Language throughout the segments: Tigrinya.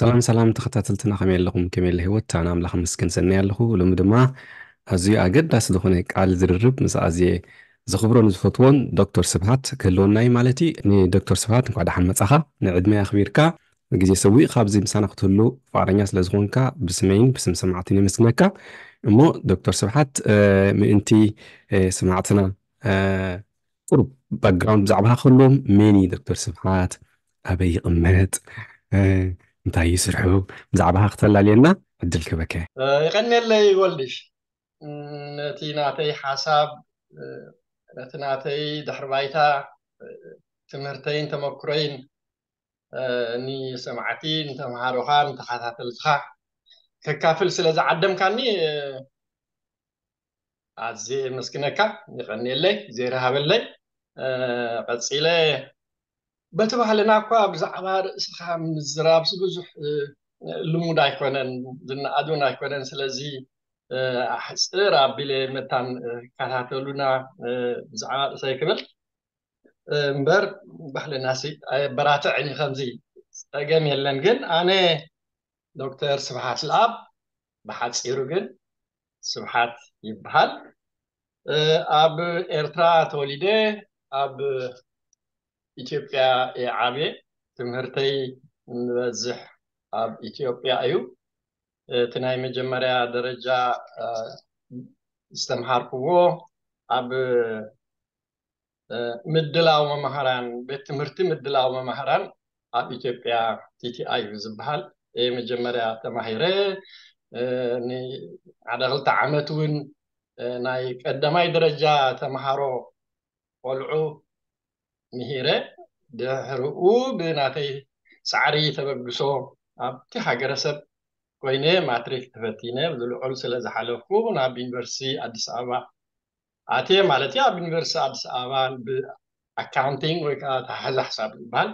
ሰላም ሰላም ተኸታተልትና፣ ከመይ ኣለኹም? ከመይ ኣለ ህይወት? ኣነ ኣምላኽ መስገን ሰናይ ኣለኹ። ሎሚ ድማ ኣዝዩ ኣገዳሲ ዝኾነ ቃል ዝርርብ ምስ ኣዝየ ዘኽብሮን ዝፈትዎን ዶክተር ስብሓት ክህልወና እዩ ማለት እዩ። ንዶክተር ስብሓት እንኳዕ ደሓን መጻኻ። ንዕድመይ ኣኽቢርካ ግዜ ሰዊእካ ኣብዚ ምሳና ክትህሉ ፍቓደኛ ስለ ዝኾንካ ብስመይን ብስም ሰማዕትን የመስግነካ። እሞ ዶክተር ስብሓት ምእንቲ ሰማዕትና ቁሩብ ባክግራውንድ ብዛዕባኻ ክህልዎም፣ መን እዩ ዶክተር ስብሓት፣ ኣበይ ይቕመጥ፣ እንታይ እዩ ስርሑ፣ ብዛዕባኻ ክተላልየና ዕድል ክህበካ። የቐንየለይ ወልድሽ። ነቲ ናተይ ሓሳብ፣ ነቲ ናተይ ድሕሪ ባይታ፣ ትምህርተይን ተመክሮይን ንሰማዕቲ፣ ንተምሃሮኻ፣ ንተኸታተልትኻ ከካፍል ስለ ዝዓደምካኒ ኣዝየ የመስግነካ። የቐንየለይ፣ ዜር ሃበለይ። ቀጺለ በቲ ባህልና እኳ ብዛዕባ ርእስኻ ምዝራብሲ ብዙሕ ልሙድ ኣይኮነን፣ ዝነኣድ እውን ኣይኮነን። ስለዚ ኣሕጽር ኣቢለ መታን ከታተሉና ብዛዕባ ርእሰይ ክብል እምበር ባህልና ሲ ኣየበራትዕን እዩ። ከምዚ ጸገም የለን። ግን ኣነ ዶክተር ስብሓት ለኣብ፣ ብሓጺሩ ግን ስብሓት ይበሃል። ኣብ ኤርትራ ተወሊደ ኣብ ኢትዮጵያ እየ ዓብየ። ትምህርተይ ንበዝሕ ኣብ ኢትዮጵያ እዩ። እቲ ናይ መጀመርያ ደረጃ ዝተምሃርክዎ ኣብ ምድላው መማህራን፣ ቤት ትምህርቲ ምድላው መማህራን ኣብ ኢትዮጵያ፣ ቲ ቲ ኣይ እዩ ዝበሃል። እየ መጀመርያ ተማሂረ። ንሓደ ክልተ ዓመት እውን ናይ ቀዳማይ ደረጃ ተምሃሮ ቆልዑ ምሂረ። ድሕርኡ ብናተይ ጻዕሪ ተበግሶ ኣብቲ ሃገረሰብ ኮይነ ማትሪክ ተፈቲነ ብልዑል ስለ ዝሓለፍኩ ናብ ዩኒቨርሲቲ ኣዲስ ኣበባ ኣትየ ማለት እዩ። ኣብ ዩኒቨርሲቲ ኣዲስ ኣበባ ብኣካውንቲንግ ወይ ከዓ ኣተሓሕዛ ሕሳብ ዝበሃል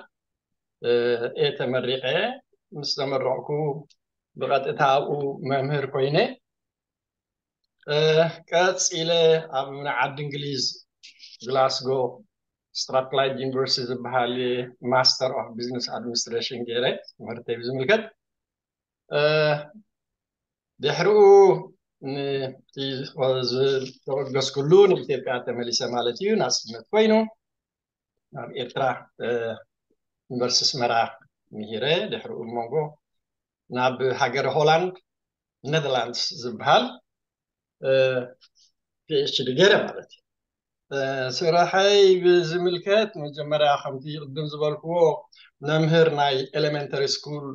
እየ ተመሪቐ። ምስ ተመረቕኩ ብቐጥታ ኣብኡ መምህር ኮይነ ቀፂለ ኣብ ናይ ዓዲ እንግሊዝ ግላስጎ ስትራትላይድ ዩኒቨርሲቲ ዝበሃል ማስተር ኦፍ ቢዝነስ ኣድሚኒስትሬሽን ገይረ ትምህርተይ ብዝምልከት ድሕሪኡ ንተበገስኩሉ ንኢትዮጵያ ተመሊሰ ማለት እዩ። ናፅነት ኮይኑ ናብ ኤርትራ ዩኒቨርሲቲ ኣስመራ ምሂረ ድሕሪኡ መንጎ ናብ ሃገረ ሆላንድ ኔዘርላንድስ ዝበሃል ፒኤችዲ ገይረ ማለት እዩ። ስራሐይ ብዝምልከት መጀመርያ ከምቲ ቅድም ዝበልክዎ መምህር ናይ ኤሌመንተሪ ስኩል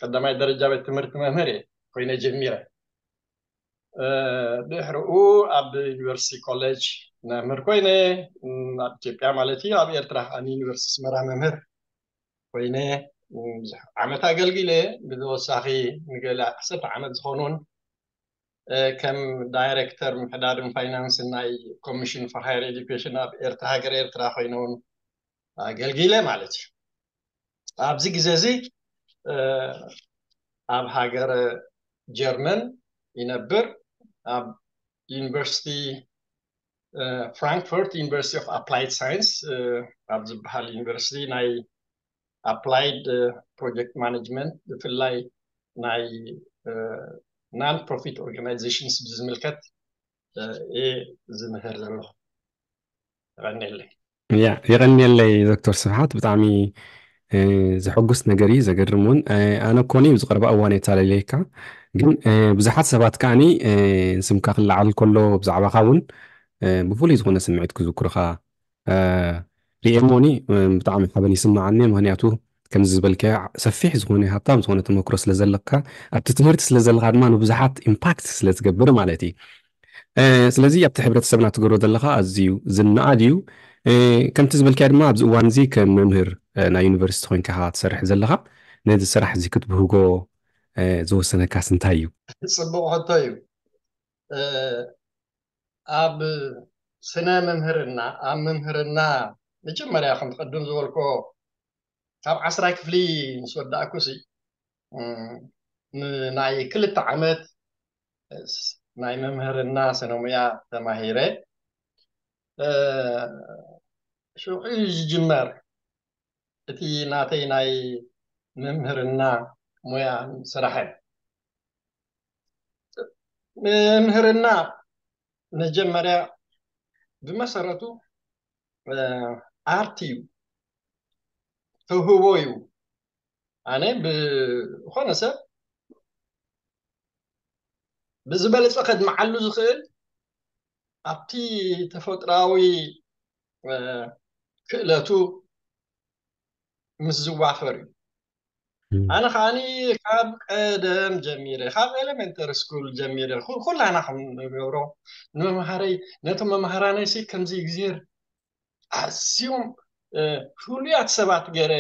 ቀዳማይ ደረጃ ቤት ትምህርቲ መምህር እየ ኮይነ ጀሚረ። ድሕርኡ ኣብ ዩኒቨርሲቲ ኮሌጅ መምህር ኮይነ ኣብ ኢትዮጵያ ማለት እዩ። ኣብ ኤርትራ ከኣ ዩኒቨርሲቲ ኣስመራ መምህር ኮይነ ብዙሕ ዓመት ኣገልጊለ። ብተወሳኺ ንገለ ዓሰርተ ዓመት ዝኾኑን ከም ዳይሬክተር ምሕዳርን ፋይናንስን ናይ ኮሚሽን ፎር ሃየር ኤዱኬሽን ኣብ ኤርትራ ሃገር ኤርትራ ኮይነ እውን ኣገልጊለ ማለት እዩ። ኣብዚ ግዜ እዚ ኣብ ሃገረ ጀርመን ይነብር። ኣብ ዩኒቨርሲቲ ፍራንክፈርት ዩኒቨርሲቲ ኦፍ ኣፕላይድ ሳይንስ ኣብ ዝበሃል ዩኒቨርሲቲ ናይ ኣፕላይድ ፕሮጀክት ማኔጅመንት ብፍላይ ናይ ናን ፕሮፊት ኦርጋናይዜሽንስ ብዝምልከት እየ ዝምህር ዘለኹ። የቐንየለይ። ያ የቐንየለይ ዶክተር ስብሓት፣ ብጣዕሚ ዘሐጉስ ነገር እዩ፣ ዘገርም እውን። ኣነ እኮ ዝቐረባ እዋን የታለለየካ፣ ግን ብዙሓት ሰባት ከዓኒ ስምካ ክለዓል ከሎ ብዛዕባኻ እውን ብፍሉይ ዝኾነ ስምዒት ክዝክሩኻ ሪኤሞኒ ብጣዕሚ ሓበን ይስምዓኒ። ምክንያቱ ከምዚ ዝበልካዮ ሰፊሕ ዝኾነ ሃብታም ዝኾነ ተመክሮ ስለ ዘለካ፣ ኣብቲ ትምህርቲ ስለ ዘለካ ድማ ንብዙሓት ኢምፓክት ስለ ትገብር ማለት እዩ። ስለዚ ኣብቲ ሕብረተሰብና ትገብሮ ዘለካ ኣዝዩ ዝነኣድ እዩ። ከምቲ ዝበልካዮ ድማ ኣብዚ እዋን እዚ ከም መምህር ናይ ዩኒቨርሲቲ ኮይንካ ትሰርሕ ዘለካ፣ ነዚ ስራሕ እዚ ክትብህጎ ዝወሰነካስ እንታይ እዩ? ፅቡቕ ሕቶ እዩ። ኣብ ስነ መምህርና፣ ኣብ መምህርና መጀመርያ ከም ትቐድም ዝበልኮ ካብ ዓስራይ ክፍሊ ምስ ወዳእኩ ሲ ናይ ክልተ ዓመት ናይ መምህርና ስነሙያ ተማሂረ። ሽዑ ዝጅመር እቲ ናተይ ናይ መምህርና ሞያን ስራሕን። መምህርና መጀመርያ ብመሰረቱ ኣርት እዩ፣ ተውህቦ እዩ። ኣነ ብኾነ ሰብ ብዝበለፀ ከድምዓሉ ዝኽእል ኣብቲ ተፈጥሮኣዊ ክእለቱ ምስ ዝዋፈር እዩ። ኣነ ከዓኒ ካብ ቀደም ጀሚረ፣ ካብ ኤሌመንተሪ ስኩል ጀሚረ ኩላና ከም ንገብሮ ንመምሃረይ፣ ነቶም መምሃራነይ ሲ ከምዚ እግዚኣብሔር ኣዝዮም ፍሉያት ሰባት ገይረ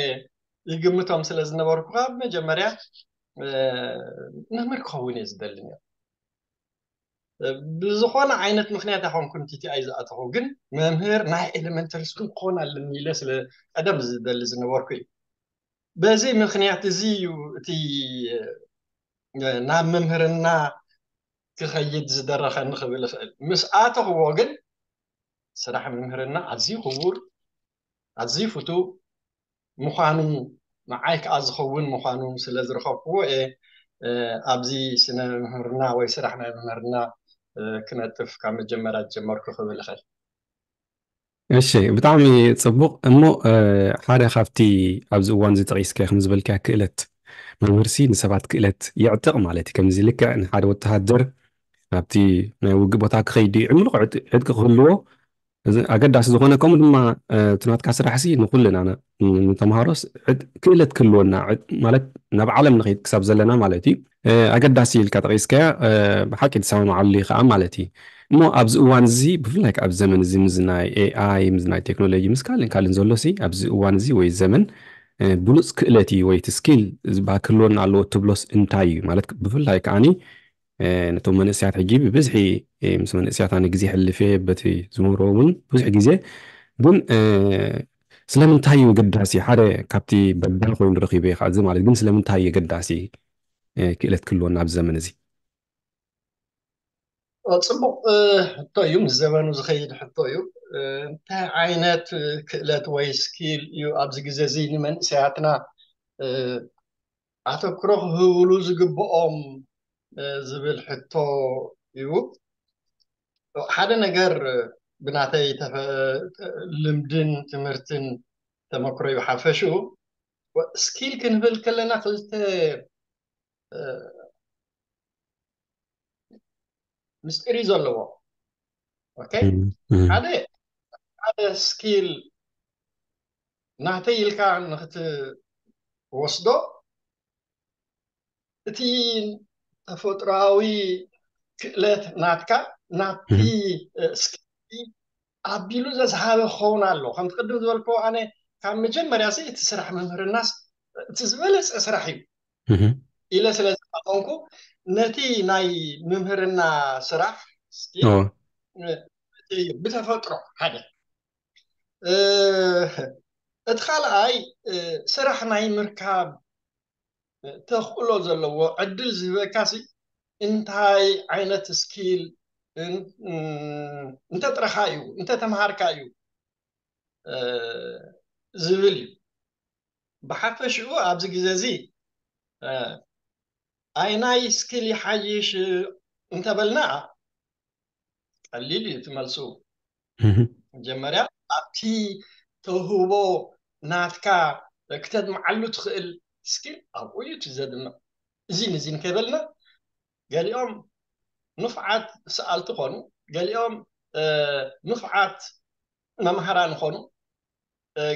ይግምቶም ስለ ዝነበርኩ ካብ መጀመርያ መምህር ክኸውን እየ ዝደሊ ነይሩ። ብዝኾነ ዓይነት ምክንያት ኣይኮንኩን ቲቲኣይ ዝኣተኹ፣ ግን መምህር ናይ ኤሌመንተሪ ስኩል ክኾን ኣለኒ ኢለ ስለ ቀደም ዝደሊ ዝነበርኩ እዩ። በዚ ምክንያት እዚ እዩ እቲ ናብ መምህርና ክኸይድ ዝደረኸኒ ክብል እኽእል። ምስ ኣተኽዎ ግን ስራሕ መምህርና ኣዝዩ ክቡር፣ ኣዝዩ ፍቱው ምዃኑ፣ ንዓይ ከዓ ዝኸውን ምዃኑ ስለ ዝረኸብክዎ እየ ኣብዚ ስነ መምህርና ወይ ስራሕ ናይ መምህርና ክነጥፍ ካብ መጀመርያ ዝጀመርኩ ክብል እኽእል። እሺ፣ ብጣዕሚ ጽቡቕ። እሞ ሓደ ካብቲ ኣብዚ እዋን እዚ ጠቒስካዮ ከም ዝበልካዮ ክእለት መምህርሲ ንሰባት ክእለት የዕጥቕ ማለት እዩ። ከምዚ ልክዕ ንሓደ ወተሃደር ኣብቲ ናይ ውግእ ቦታ ክኸይድ እዩ፣ ዕምሉቕ ዕጥቂ ክህልዎ ኣገዳሲ ዝኾነ፣ ከምኡ ድማ እቲ ናትካ ስራሕሲ ንኩልና ንተምሃሮስ ክእለት ክህልወና ማለት ናብ ዓለም ንኸይድ ክሳብ ዘለና ማለት እዩ። ኣገዳሲ ኢልካ ጠቒስካያ ብሓቂ ትሰማማዓሉ ከዓ ማለት እዩ። እሞ ኣብዚ እዋን እዚ ብፍላይ ኣብ ዘመን እዚ ምስ ናይ ኤኣይ ምስ ናይ ቴክኖሎጂ ምስ ካልእን ካልእን ዘሎ ሲ ኣብዚ እዋን እዚ ወይ ዘመን ብሉፅ ክእለት እዩ ወይ እቲ ስኪል ዝበሃል ክህልወና ኣለዎ ትብሎስ እንታይ እዩ ማለት ብፍላይ ከዓኒ ነቶም መንእሰያት ሕጂ ብብዝሒ ምስ መንእሰያት ኣነ ግዜ ሕልፍ እየ በቲ ዝምህሮ እውን ብዙሕ ግዜ ግን ስለምንታይ እዩ ገዳሲ ሓደ ካብቲ በዳል ኮይኑ ረኪበ ከዓ እዚ ማለት ግን ስለምንታይ እዩ ገዳሲ ክእለት ክህልወና ኣብዚ ዘመን እዚ ፅቡቅ ሕቶ እዩ ምስ ዘመኑ ዝኸይድ ሕቶ እዩ እንታይ ዓይነት ክእለት ወይ ስኪል እዩ ኣብዚ ግዜ እዚ ንመንእሰያትና ኣተክሮ ክህብሉ ዝግብኦም ዝብል ሕቶ እዩ ሓደ ነገር ብናተይ ልምድን ትምህርትን ተመክሮ እዩ ሓፈሽኡ ስኪል ክንብል ከለና ክልተ ምስጢር እዩ ዘለዎ ሓደ ሓደ ስኪል ናተይ ኢልካ ንክትወስዶ እቲ ተፈጥሮዊ ክእለት ናትካ ናቲ ስኪል ኣቢሉ ዘዝሃበ ክኸውን ኣሎ ከምቲ ቅድም ዝበልክዎ ኣነ ካብ መጀመርያ እቲ ስራሕ መምህርናስ እቲ ዝበለፀ ስራሕ እዩ ኢለ ስለ ዝኣመንኩ ነቲ ናይ ምምህርና ስራሕ ብተፈጥሮ ሓደ እቲ ካልኣይ ስራሕ ናይ ምርካብ ተኽእሎ ዘለዎ ዕድል ዝህበካ ሲ እንታይ ዓይነት ስኪል እንተጥረኻ እዩ እንተተምሃርካ እዩ ዝብል እዩ ብሓፈሽኡ ኣብዚ ግዜ እዚ ኣይናይ ስኪል ይሓይሽ እንተበልና ቀሊል እዩ ትመልሱ መጀመርያ ኣብቲ ተውህቦ ናትካ ክተድምዓሉ ትኽእል ስኪል ኣብኡ እዩ ትዘድምዕ እዚን እዚን ከይበልና ገሊኦም ንፍዓት ሰኣልቲ ኾኑ ገሊኦም ንፍዓት መምሃራን ኾኑ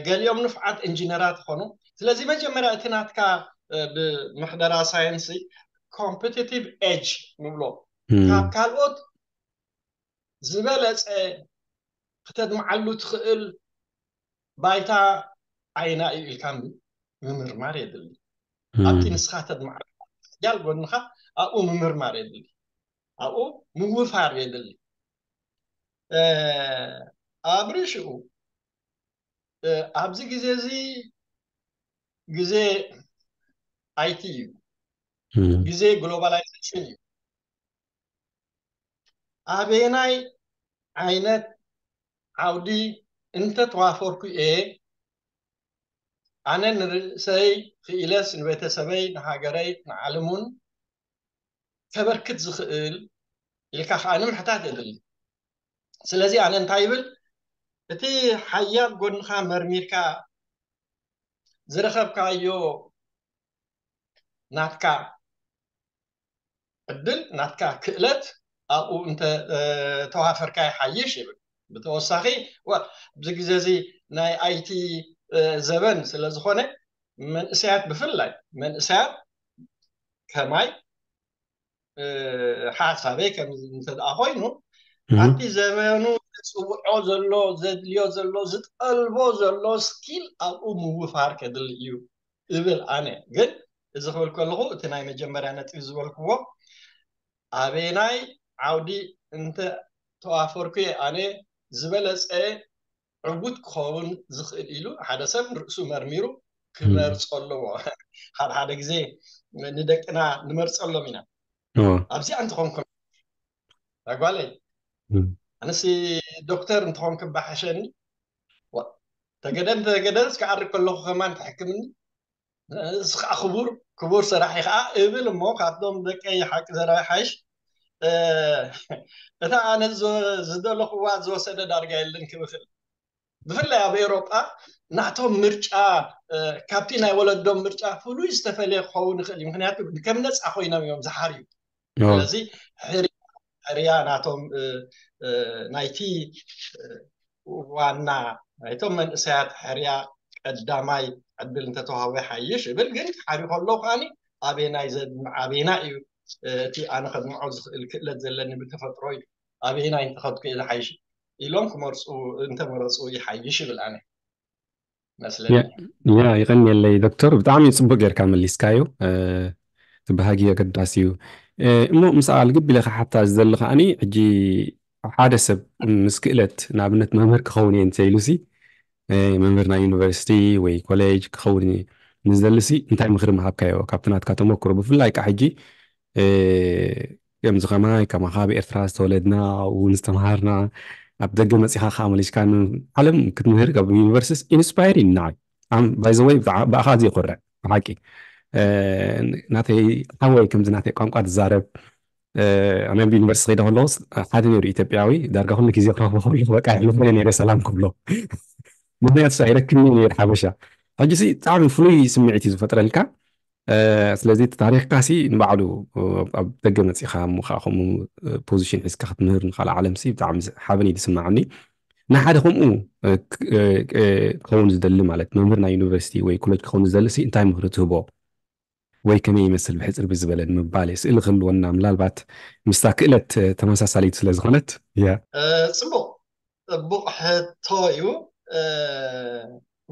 ገሊኦም ንፍዓት ኢንጂነራት ኾኑ ስለዚ መጀመርያ እቲ ናትካ ብምሕደራ ሳይንስ ኮምፒቲቲቭ ኤጅ ንብሎ ካብ ካልኦት ዝበለፀ ክተድምዓሉ ትኽእል ባይታ ዓይና እዩ ኢልካ ምምርማር የድሊ ኣብቲ ንስኻ ተድምዓሉ ያል ጎንኻ ኣብኡ ምምርማር የድሊ ኣብኡ ምውፋር የድሊ ኣብ ርእሽኡ ኣብዚ ግዜ እዚ ግዜ ኣይቲ እዩ ግዜ ግሎባላይዜሽን እዩ ኣበየናይ ዓይነት ዓውዲ እንተተዋፈርኩ እየ ኣነ ንርእሰይ ክኢለስ ንቤተሰበይ ንሃገረይ ንዓለም እውን ከበርክት ዝኽእል ኢልካ ከዓ ንምሕታት የድሊ። ስለዚ ኣነ እንታይ ይብል፣ እቲ ሓያል ጎንኻ መርሚርካ ዝረኸብካዮ ናትካ ዕድል ናትካ ክእለት ኣብኡ እንተ ተዋፈርካ ይሓይሽ ይብል። ብተወሳኺ ኣብዚ ግዜ እዚ ናይ ኣይቲ ዘበን ስለ ዝኾነ መንእሰያት ብፍላይ መንእሰያት ከማይ ሓሳበይ ከም እንተ ደኣ ኮይኑ ኣብቲ ዘበኑ ዝፅውዖ ዘሎ ዘድልዮ ዘሎ ዝጠልቦ ዘሎ ስኪል ኣብኡ ምውፋር ከድሊ እዩ እብል ኣነ። ግን እዚ ክብል ከለኹ እቲ ናይ መጀመርያ ነጥቢ ዝበልክዎ ኣበየናይ ዓውዲ እንተ ተዋፈርኩ እየ ኣነ ዝበለፀ ዕዉት ክኸውን ዝኽእል ኢሉ ሓደ ሰብ ንርእሱ መርሚሩ ክመርፆ ኣለዎ። ሓደ ሓደ ግዜ ንደቅና ንመርፀሎም ኢና። ኣብዚኣ እንተኾንኩም ጓለይ ኣነሲ ዶክተር እንተኾን ክባሓሸኒ ተገደ እንተገደ እስከ ዓርግ ከለኹ ከማን ትሕክምኒ ንስ ከዓ ክቡር ክቡር ሰራሕ ከዓ እብል እሞ ካብቶም ደቀይ ሓቂ ዘረባይ ሓይሽ እታ ኣነ ዝደለኽዋ ዝወሰደ ዳርጋ የለን ክብክል ብፍላይ ኣብ ኤሮጳ ናቶም ምርጫ ካብቲ ናይ ወለዶም ምርጫ ፍሉይ ዝተፈለየ ክኸውን ይኽእል እዩ ምክንያቱ ከም ነፃ ኮይኖም እዮም ዝሓርዩ ስለዚ ሕርያ ናቶም ናይቲ ዋና ናይቶም መንእሰያት ሕርያ ቀዳማይ ዕድል እንተተዋህቦ ይሓይሽ እብል ግን ሓሪ ከሎ ከዓኒ ኣበየናይ ዘድምዕ ኣበየና እዩ እቲ ኣነ ከድምዖ ዝኽእል ክእለት ዘለኒ ብተፈጥሮ እዩ ኣበየናይ እንተኸድኩ እየ ዝሓይሽ ኢሎም ክመርፁ እንተመረፁ ይሓይሽ ይብል ኣነ መስለኒ ያ ይቐንየለይ ዶክተር ብጣዕሚ ፅቡቅ ጌርካ መሊስካዮ እቲ ባህጊ ኣገዳሲ እዩ እሞ ምስኣ ልግብ ኢለ ክሓታ ዝደሊ ከዓኒ ሕጂ ሓደ ሰብ ምስ ክእለት ንኣብነት መምህር ክኸውን እየ እንተኢሉ ሲ መምህር ናይ ዩኒቨርሲቲ ወይ ኮሌጅ ክኸውን ንዝደሊ ሲ እንታይ ምኽሪ ምሃብካዮ ካብቲ ናትካ ተመክሮ ብፍላይ ከዓ ሕጂ ከምዚ ከማይ ከማኻ ኣብ ኤርትራ ዝተወለድና እውን ዝተምሃርና ኣብ ደገ መፂኻ ከዓ መሊስካ ዓለም ክትምህር ኣብ ዩኒቨርሲቲስ ኢንስፓየር እዩ ንዓይ ባይዘወይ ብኣኻ እዚ ይኮርዕ ብሓቂ ናተይ ሓወይ ከምዚ ናተይ ቋንቋ ትዛረብ ኣነ ኣብ ዩኒቨርሲቲ ከይደ ከለኩስ ሓደ ነይሩ ኢትዮጵያዊ ዳርጋ ኩሉ ግዜ ክረኽቦ ከለኩ በቃ የሕልፎ ነይረ ሰላም ክብሎ ምክንያቱ ኣይረክብኒ ነይሩ ሓበሻ ሕጂ ብጣዕሚ ፍሉይ ስምዒት እዩ ዝፈጥረልካ ስለዚ እቲ ታሪኽካ ሲ ንባዕሉ ኣብ ደገ መፂኻ እሞ ከዓ ከምኡ ፖዚሽን ሒዝካ ክትምህር ንካልእ ዓለም ሲ ብጣዕሚ ሓበን እዩ ዝስማዓኒ ንሓደ ከምኡ ክኸውን ዝደሊ ማለት መምህር ናይ ዩኒቨርሲቲ ወይ ኮሌጅ ክኸውን ዝደሊ ሲ እንታይ ምኽሪ ትህቦ ወይ ከመይ ይመስል ብሕፅር ብዝበለ ንምባል እየ ስእሊ ክህልወና ምናልባት ምስታ ክእለት ተመሳሳሊት ስለ ዝኾነት እያ ፅቡቅ ፅቡቕ ሕቶ እዩ።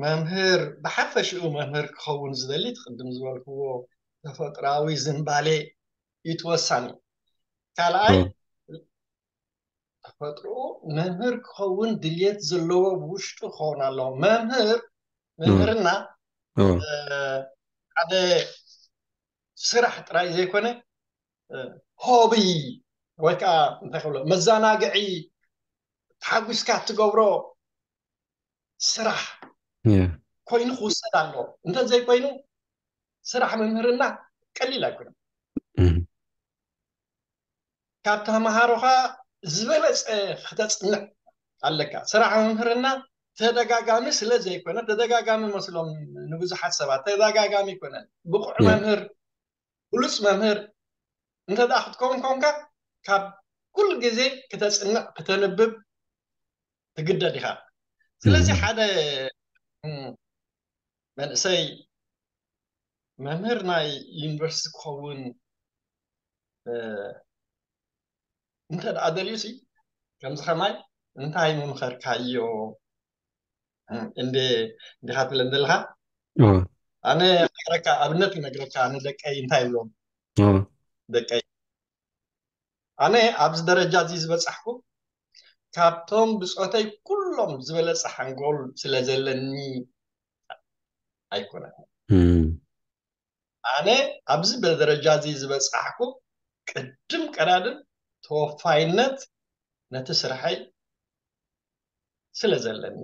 መምህር ብሓፈሽኡ መምህር ክኸውን ዝደሊ እቲ ቅድም ዝበልክዎ ተፈጥራዊ ዝንባሌ እዩ እቲ ወሳኒ። ካልኣይ ተፈጥሮኡ መምህር ክኸውን ድልየት ዘለዎ ብውሽጡ ክኸውን ኣለዎ። መምህር መምህርና ሓደ ስራሕ ጥራይ ዘይኮነ ሆቢ ወይ ከዓ እንታይ ክብሎ መዘናግዒ ተሓጒስካ እትገብሮ ስራሕ ኮይኑ ክውሰድ ኣለዎ። እንተዘይኮይኑ ስራሕ መምህርና ቀሊል ኣይኮነን። ካብ ተምሃሮኻ ዝበለፀ ክተፅንዕ ኣለካ። ስራሕ መምህርና ተደጋጋሚ ስለ ዘይኮነ ተደጋጋሚ መስሎም ንብዙሓት ሰባት ተደጋጋሚ ይኮነን። ብቑዕ መምህር ብሉፅ መምህር እንተ ደኣ ክትከውን ኮንካ ካብ ኩሉ ግዜ ክተፅንዕ ክተንብብ ትግደድ ኢኻ። ስለዚ ሓደ መንእሰይ መምህር ናይ ዩኒቨርሲቲ ክኸውን እንተ ደኣ ደልዩ ሲ ከምዚ ከማይ እንታይ ምምኸርካዮ እንዴ እንዲኻ ትብለን ዘለኻ ኣነ ነግረካ ኣብነት ይነግረካ ንደቀይ እንታይ ይብሎም ደቀይ ኣነ ኣብዚ ደረጃ እዚ ዝበፃሕኩ ካብቶም ብፆተይ ኩሎም ዝበለፀ ሓንጎል ስለ ዘለኒ ኣይኮነን ኣነ ኣብዚ ደረጃ እዚ ዝበፃሕኩ ቅድም ቀዳድም ተወፋይነት ነቲ ስርሐይ ስለ ዘለኒ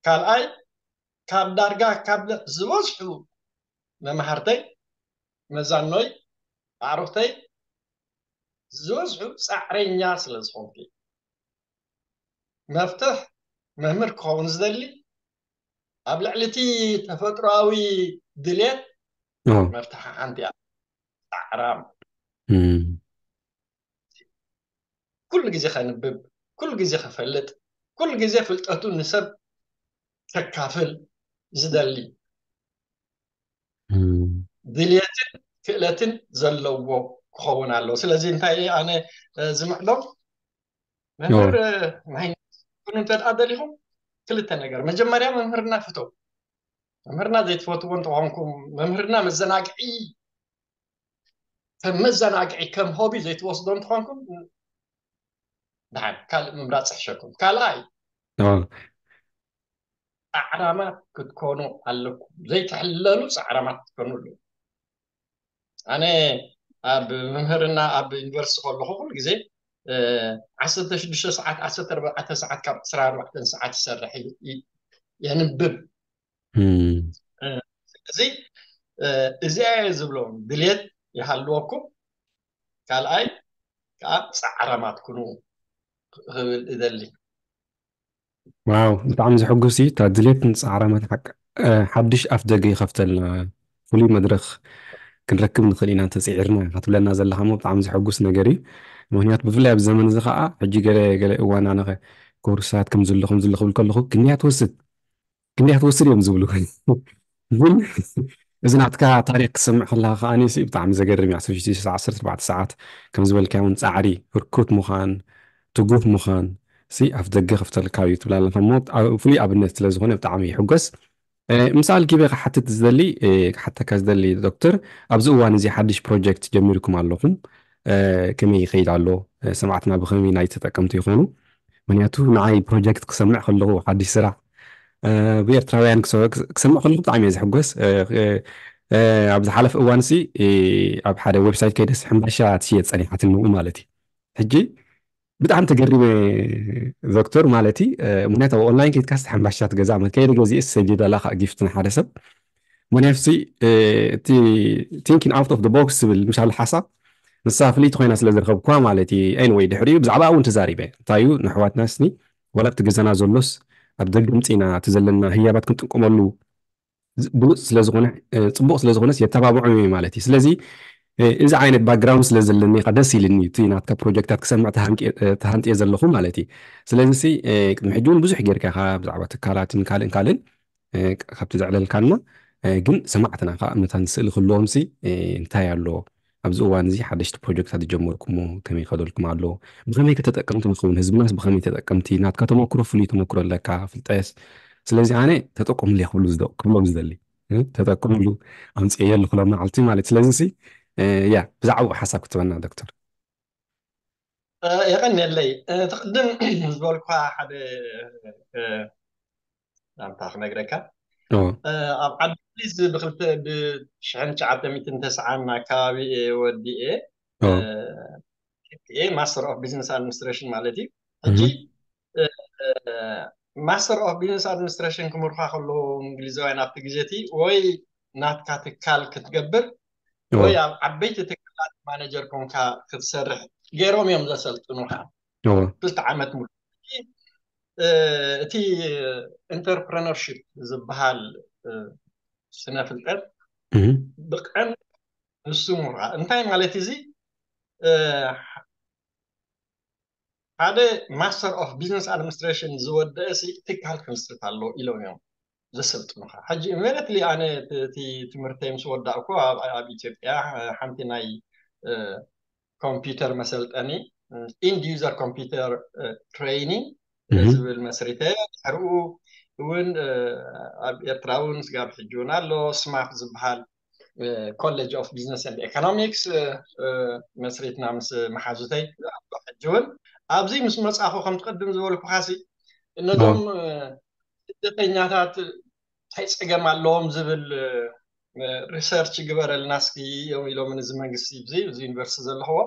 ካልኣይ ካብ ዳርጋ ካብ ዝበዝሑ መማህርተይ፣ መዛኖይ፣ ኣዕሩኽተይ ዝበዝሑ ፃዕረኛ ስለ ዝኾንኩ፣ መፍትሕ መምህር ክኸውን ዝደሊ ኣብ ልዕሊ እቲ ተፈጥሮኣዊ ድሌት፣ መፍትሓ ሓንቲ እያ። ፃዕራም፣ ኩሉ ግዜ ከንብብ፣ ኩሉ ግዜ ከፈልጥ፣ ኩሉ ግዜ ፍልጠቱ ንሰብ ከካፍል ዝደሊ፣ ድልየትን ክእለትን ዘለዎ ክኸውን ኣለዎ። ስለዚ እንታይ ኣነ ዝምዕዶም፣ መምህር ናይ ኩኑ እንተ ደኣ ደሊኹም፣ ክልተ ነገር። መጀመርያ መምህርና ፍተው። መምህርና ዘይትፈትዎ እንተኾንኩም፣ መምህርና መዘናግዒ፣ ከም መዘናግዒ፣ ከም ሆቢ ዘይትወስዶ እንተኾንኩም፣ ደሓን ካልእ ምምራፅ ይሕሸኩም። ካልኣይ፣ ፃዕራማት ክትኮኑ ኣለኩም። ዘይትሕለሉ ፃዕራማት ክትኮኑ ኣለኩም። ኣነ ኣብ ምምህርና ኣብ ዩኒቨርሲቲ ከለኹ ኩሉ ግዜ ዓሰርተ ሽዱሽተ ሰዓት፣ ዓሰርተ ኣርባዕተ ሰዓት፣ ካብ ዕስራ ኣርባዕተ ሰዓት ይሰርሕ፣ የንብብ። ስለዚ እዚኣ እየ ዝብሎም፣ ድልየት ይሃልወኩም፣ ካልኣይ ከዓ ፃዕራማት ኩኑ ክብል እደሊ። ዋው፣ ብጣዕሚ ዘሐጉስ እዩ። እታ ድሌትን ፃዕራማት ሓቂ፣ ሓድሽ ኣፍ ደገ ይኸፍተልና፣ ፍሉይ መድረኽ ክንረክብ ንኽእል ኢና እንተፅዒርና ኢኻ ትብለና ዘለኻ እሞ ብጣዕሚ ዘሐጉስ ነገር እዩ። ምኽንያቱ ብፍላይ ኣብዚ ዘመን እዚ ከዓ ሕጂ ገለ ገለ እዋን ኣነ ኮርሳት ከም ዝሎ ከም ዝሎ ክብል ከለኹ ክንደይ ትወስድ ክንደይ ትወስድ እዮም ዝብሉ። ግን እዚ ናትካ ታሪክ ክሰምዕ ከለካ ከዓኒ ሲ ብጣዕሚ ዘገርም እዩ። ዓሰርተ ሽዱሽተ ዓሰርተ ኣርባዕተ ሰዓት ከም ዝበልካዮ እውን ፃዕሪ፣ ህርኩት ምዃን፣ ትጉህ ምዃን ሲ ኣፍ ደገ ከፍተልካ እዩ ትብል ኣለካ እሞ ፍሉይ ኣብነት ስለ ዝኾነ ብጣዕሚ ይሕጎስ። ምሳል ኪበ ክሓትት ዝደሊ ክሓተካ ዝደሊ ዶክተር፣ ኣብዚ እዋን እዚ ሓድሽ ፕሮጀክት ጀሚርኩም ኣለኹም፣ ከመይ ይኸይድ ኣሎ? ሰማዕትና ብኸመይ ናይ ተጠቀምቲ ይኾኑ? ምክንያቱ ንዓይ ፕሮጀክት ክሰምዕ ከለኹ ሓድሽ ስራሕ ብኤርትራውያን ክሰምዕ ከለኹ ብጣዕሚ እየ ዝሕጎስ። ኣብ ዝሓለፈ እዋን ሲ ኣብ ሓደ ዌብሳይት ከይደስ ሕምባሻ ትሽየጥ ፀኒሓትኒ ንኡ ማለት እዩ። ሕጂ ብጣዕሚ ተገሪመ ዶክተር ማለት እዩ። ምክንያቱ ኣብ ኦንላይን ከይድካስ ሕምባሻ ትገዛ ማለት ከይደ ገዚእስ ሰዲደላ ከዓ ጊፍት ንሓደ ሰብ። ምክንያቱ እቲ thinking out of the box ዝብል ምሻሉ ሓሳብ ንሳ ፍልይቲ ኮይና ስለ ዝረኸብኩዋ ማለት እዩ። Anyway ድሕሪኡ ብዛዕባ እውን ተዛሪበ። እንታይ እዩ ንኣሕዋትና ስኒ ዋላ ኣብቲ ገዛና ዘሎስ ኣብ ደገ ምፅና እቲ ዘለና ህያባት ክንጥቀመሉ ብሉፅ ስለዝኾነ ፅቡቕ ስለዝኾነስ የተባብዖም እዩ ማለት እዩ። ስለዚ እዚ ዓይነት ባክግራውንድ ስለ ዘለኒ ደስ ኢልኒ እቲ ናትካ ፕሮጀክታት ክሰምዕ ተሃንጥየ ዘለኹ ማለት እዩ። ስለዚ ቅድሚ ሕጂ እውን ብዙሕ ጌርካ ኢኻ ብዛዕባ ትካላትን ካልእን ካልእን ካብቲ ዘዕለልካና ግን ሰማዕትና ከዓ መታን ስእሊ ክህልዎም ሲ እንታይ ኣሎ ኣብዚ እዋን እዚ ሓደሽቲ ፕሮጀክታት ዝጀመርኩሞ ከመይ ይኸደልኩም ኣሎ ብኸመይ ከተጠቀምቲ ንኸውን ህዝብናስ ብኸመይ ተጠቀምቲ ናትካ ተመክሮ ፍሉይ ተመክሮ ኣለካ ፍልጠስ ስለዚ ኣነ ተጠቀሙሉ ክብሉ ክብሎም ዝደሊ ተጠቀሙሉ ኣምፅኤ ኣለኹ መዓልቲ ማለት ስለዚ ሲ ያ ብዛዕባኡ ሓሳብ ክትበና ዶክተር የቐንየለይ እቲ ቅድም ዝበልኳ ሓደ ናምታ ክነግረካ ኣብ ዓዲ እንግሊዝ ብክልተ ብሽሕን ትሽዓተ ሚእትን ተስዓን ኣካባቢ እየ ወዲኤ ማስተር ኦፍ ቢዝነስ ኣድሚኒስትሬሽን ማለት እዩ ሕጂ ማስተር ኦፍ ቢዝነስ ኣድሚኒስትሬሽን ክምርኳ ከለዉ እንግሊዛውያን ኣብቲ ግዜ እቲ ወይ ናትካ ትካል ክትገብር ወይ ኣብ ዓበይቲ ትካላት ማነጀር ኮንካ ክትሰርሕ ገይሮም እዮም ዘሰልጥኑካ ክልተ ዓመት ሙሉ እቲ ኢንተርፕረነርሽፕ ዝበሃል ስነ ፍልጠት ብቀን ንሱ ምራ እንታይ ማለት እዚ ሓደ ማስተር ኦፍ ቢዝነስ ኣድሚኒስትሬሽን ዝወደአ ትካል ክምስርት ኣሎ ኢሎም እዮም ዘሰልጥኑካ ሕጂ ኢሚዲየትሊ ኣነ እቲ ትምህርተይ ምስ ወዳእኩ ኣብ ኢትዮጵያ ሓንቲ ናይ ኮምፒውተር መሰልጠኒ ኢንድ ዩዘር ኮምፒውተር ትሬኒንግ ዝብል መስሪተ ድሕሪኡ እውን ኣብ ኤርትራ እውን ስጋብ ሕጂ እውን ኣሎ ስማፍ ዝበሃል ኮሌጅ ኦፍ ቢዝነስ ኤንድ ኤኮኖሚክስ መስሪትና ምስ መሓዙተይ ሕጂ እውን ኣብዚ ምስ መፃኹ ከም ትቅድም ዝበልኩካ ሲ ነዞም ስደተኛታት እንታይ ፀገም ኣለዎም ዝብል ሪሰርች ግበረልና እስኪ እዮም ኢሎም እዚ መንግስቲ እዚ እዚ ዩኒቨርሲቲ ዘለኽዎ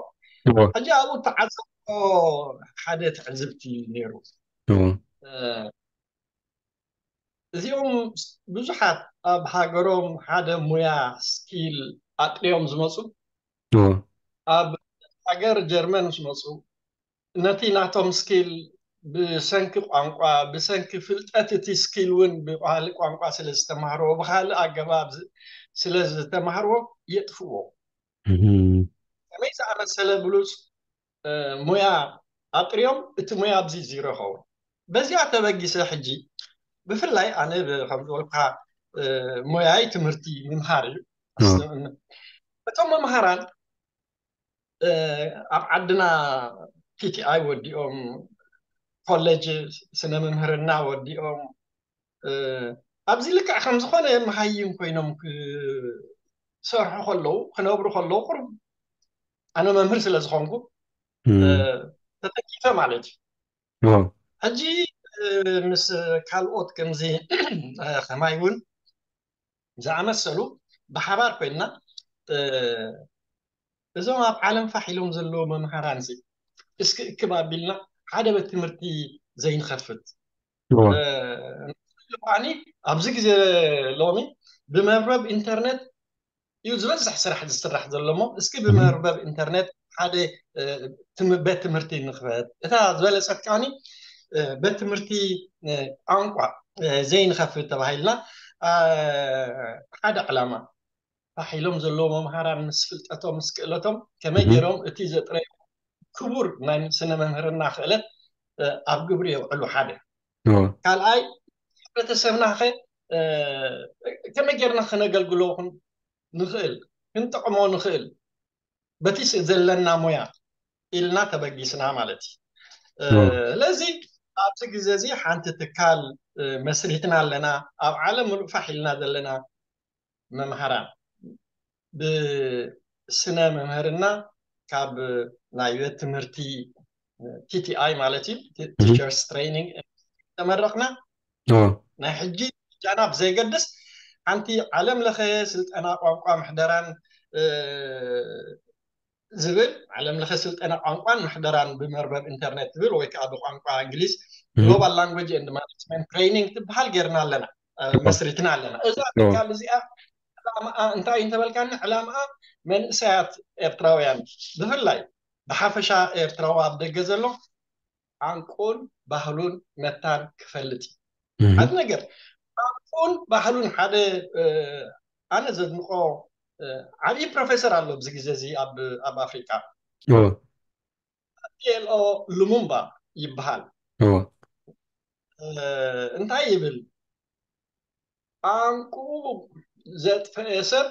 ሕጂ ኣብኡ ተዓዘብቶ ሓደ ትዕዝብቲ ነይሩ እዚኦም ብዙሓት ኣብ ሃገሮም ሓደ ሙያ ስኪል ኣጥርዮም ዝመፁ ኣብ ሃገር ጀርመን ምስ መፁ ነቲ ናቶም ስኪል ብሰንኪ ቋንቋ ብሰንኪ ፍልጠት እቲ ስኪል እውን ብባህሊ ቋንቋ ስለ ዝተማህርዎ ብካልእ ኣገባብ ስለ ዝተማህርዎ የጥፍዎ። ከመይ ዝኣመሰለ ብሉፅ ሙያ ኣጥርዮም እቲ ሙያ ኣብዚ ዚሮ ይኸውን። በዚኣ ተበጊሰ ሕጂ ብፍላይ ኣነ ከም ዝበልኩካ ሙያይ ትምህርቲ ምምሃር እዩ። እቶም መምሃራን ኣብ ዓድና ቲቲኣይ ወዲኦም ኮሌጅ ስነ ምምህርና ወዲኦም ኣብዚ ልክዕ ከም ዝኾነ መሃይም ኮይኖም ክሰርሑ ከለዉ ክነብሩ ከለዉ ቁሩብ ኣነ መምህር ስለ ዝኾንኩ ተጠቂፈ ማለት እዩ። ሕጂ ምስ ካልኦት ከምዚ ከማይ እውን ዝኣመሰሉ ብሓባር ኮይንና እዞም ኣብ ዓለም ፋሕ ኢሎም ዘለዉ መምሃራን ሲ እስኪ እክብ ኣቢልና ሓደ ቤት ትምህርቲ ዘይንኸፍት ኣኒ ኣብዚ ግዜ ሎሚ ብመርበብ ኢንተርነት እዩ ዝበዝሕ ስራሕ ዝስራሕ ዘሎ እሞ እስኪ ብመርበብ ኢንተርነት ሓደ ቤት ትምህርቲ ንክፈት እታ ዝበለፀት ከዓኒ ቤት ትምህርቲ ቋንቋ ዘይንኸፍት ተባሂልና ሓደ ዕላማ ፋሕ ኢሎም ዘለዉ መምሃራን ምስ ፍልጠቶም ምስ ክእለቶም ከመይ ገይሮም እቲ ዘጥረዩ ክቡር ናይ ስነ መምህርና ክእለት ኣብ ግብሪ የውዕሉ ሓደ ካልኣይ ሕብረተሰብና ከ ከመይ ጌርና ክነገልግሎ ንኽእል ክንጠቕሞ ንኽእል በቲ ዘለና ሞያ ኢልና ተበጊስና ማለት እዩ ስለዚ ኣብዚ ግዜ እዚ ሓንቲ ትካል መስሪትና ኣለና ኣብ ዓለም ምሉእ ፋሕ ኢልና ዘለና መምሃራን ብስነ መምህርና ካብ ናይ ቤት ትምህርቲ ቲቲኣይ ማለት እዩ teachers training ተመረቕና ናይ ሕጂ ጃና ብዘይገድስ ሓንቲ ዓለም ለኸ ስልጠና ቋንቋ ምሕደራን ዝብል ዓለም ለኸ ስልጠና ቋንቋን ምሕደራን ብመርበብ ኢንተርኔት ትብል ወይ ከዓ ብቋንቋ እንግሊዝ global language and management training ትበሃል ጌርና ኣለና መስሪትና ኣለና እዛ ትካል እዚኣ ዕላምኣ እንታይ እንተበልካኒ ዕላምኣ መንእሰያት ኤርትራውያን ብፍላይ ብሓፈሻ ኤርትራዊ ኣብ ደገ ዘሎ ዓንቁን ባህሉን መታን ክፈልጥ እዩ ሓደ ነገር ዓንቁን ባህሉን ሓደ ኣነ ዘድንቆ ዓብዪ ፕሮፌሰር ኣሎ ኣብዚ ግዜ እዚ ኣብ ኣፍሪቃ ፒኤልኦ ሉሙምባ ይበሃል እንታይ ይብል ቋንቁ ዘጥፈአ ሰብ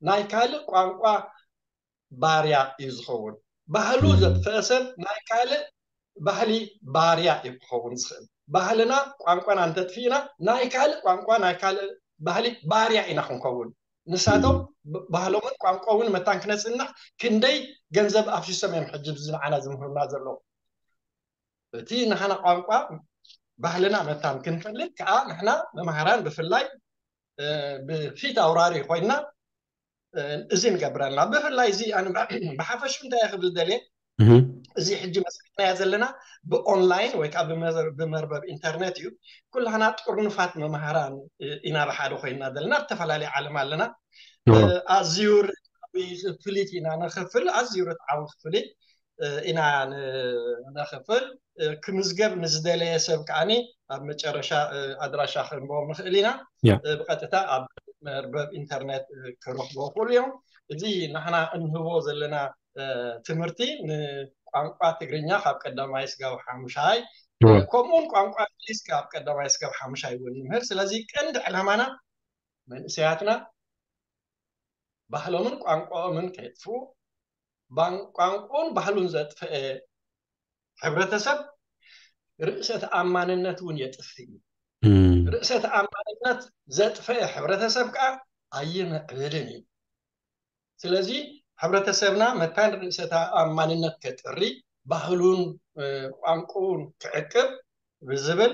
ናይ ካልእ ቋንቋ ባርያ እዩ ዝኸውን ባህሉ ዘጥፈአ ሰብ ናይ ካልእ ባህሊ ባርያ እዩ ክኸውን ዝኽእል ባህልና ቋንቋና እንተጥፊእና ናይ ካልእ ቋንቋ ናይ ካልእ ባህሊ ባርያ ኢና ክንከውን ንሳቶም ባህሎምን ቋንቋውን መታን ክነፅንሕ ክንደይ ገንዘብ ኣፍሲሶም እዮም ሕጂ ብዚ ንዓና ዝምህሩና ዘለዉ እቲ ንሓና ቋንቋ ባህልና መታን ክንፈልጥ ከዓ ንሕና መምሃራን ብፍላይ ብፊት ኣውራሪ ኮይና እዚ ንገብረልና ብፍላይ እዚ ብሓፈሹ እንታይ ክብል ደልየ እዚ ሕጂ መስሪሕናዮ ዘለና ብኦንላይን ወይ ከዓ ብመርበብ ኢንተርኔት እዩ ኩላና ጥርኑፋት መምሃራን ኢና ብሓደ ኮይና ዘለና ዝተፈላለየ ዓለም ኣለና ኣዝዩ ፍሊት ኢና ንክፍል ኣዝዩ ርትዓዊ ክፍሊት ኢና ንክፍል ክምዝገብ ንዝደለየ ሰብ ከዓኒ ኣብ መጨረሻ ኣድራሻ ክንበዎም ንኽእል ኢና ብቀጥታ ኣብ መርበብ ኢንተርኔት ክረኽቦ ክእሉ እዮም እዚ ንሕና እንህቦ ዘለና ትምህርቲ ንቋንቋ ትግርኛ ካብ ቀዳማይ ስጋብ ሓሙሻይ ከምኡውን ቋንቋ እንግሊዝ ካብ ቀዳማይ ስጋብ ሓሙሻይ እውን ንምህር ስለዚ ቀንዲ ዕላማና መንእሰያትና ባህሎምን ቋንቋኦምን ከየጥፍኡ ቋንቋኡን ባህሉን ዘጥፍአ ሕብረተሰብ ርእሰ ተኣማንነት እውን የጥፍእ እዩ። ርእሰ ተኣማንነት ዘጥፈአ ሕብረተሰብ ከዓ ኣይምዕብልን እዩ። ስለዚ ሕብረተሰብና መታን ርእሰ ተኣማንነት ከጥሪ፣ ባህሉን ቋንቁን ክዕቅብ ብዝብል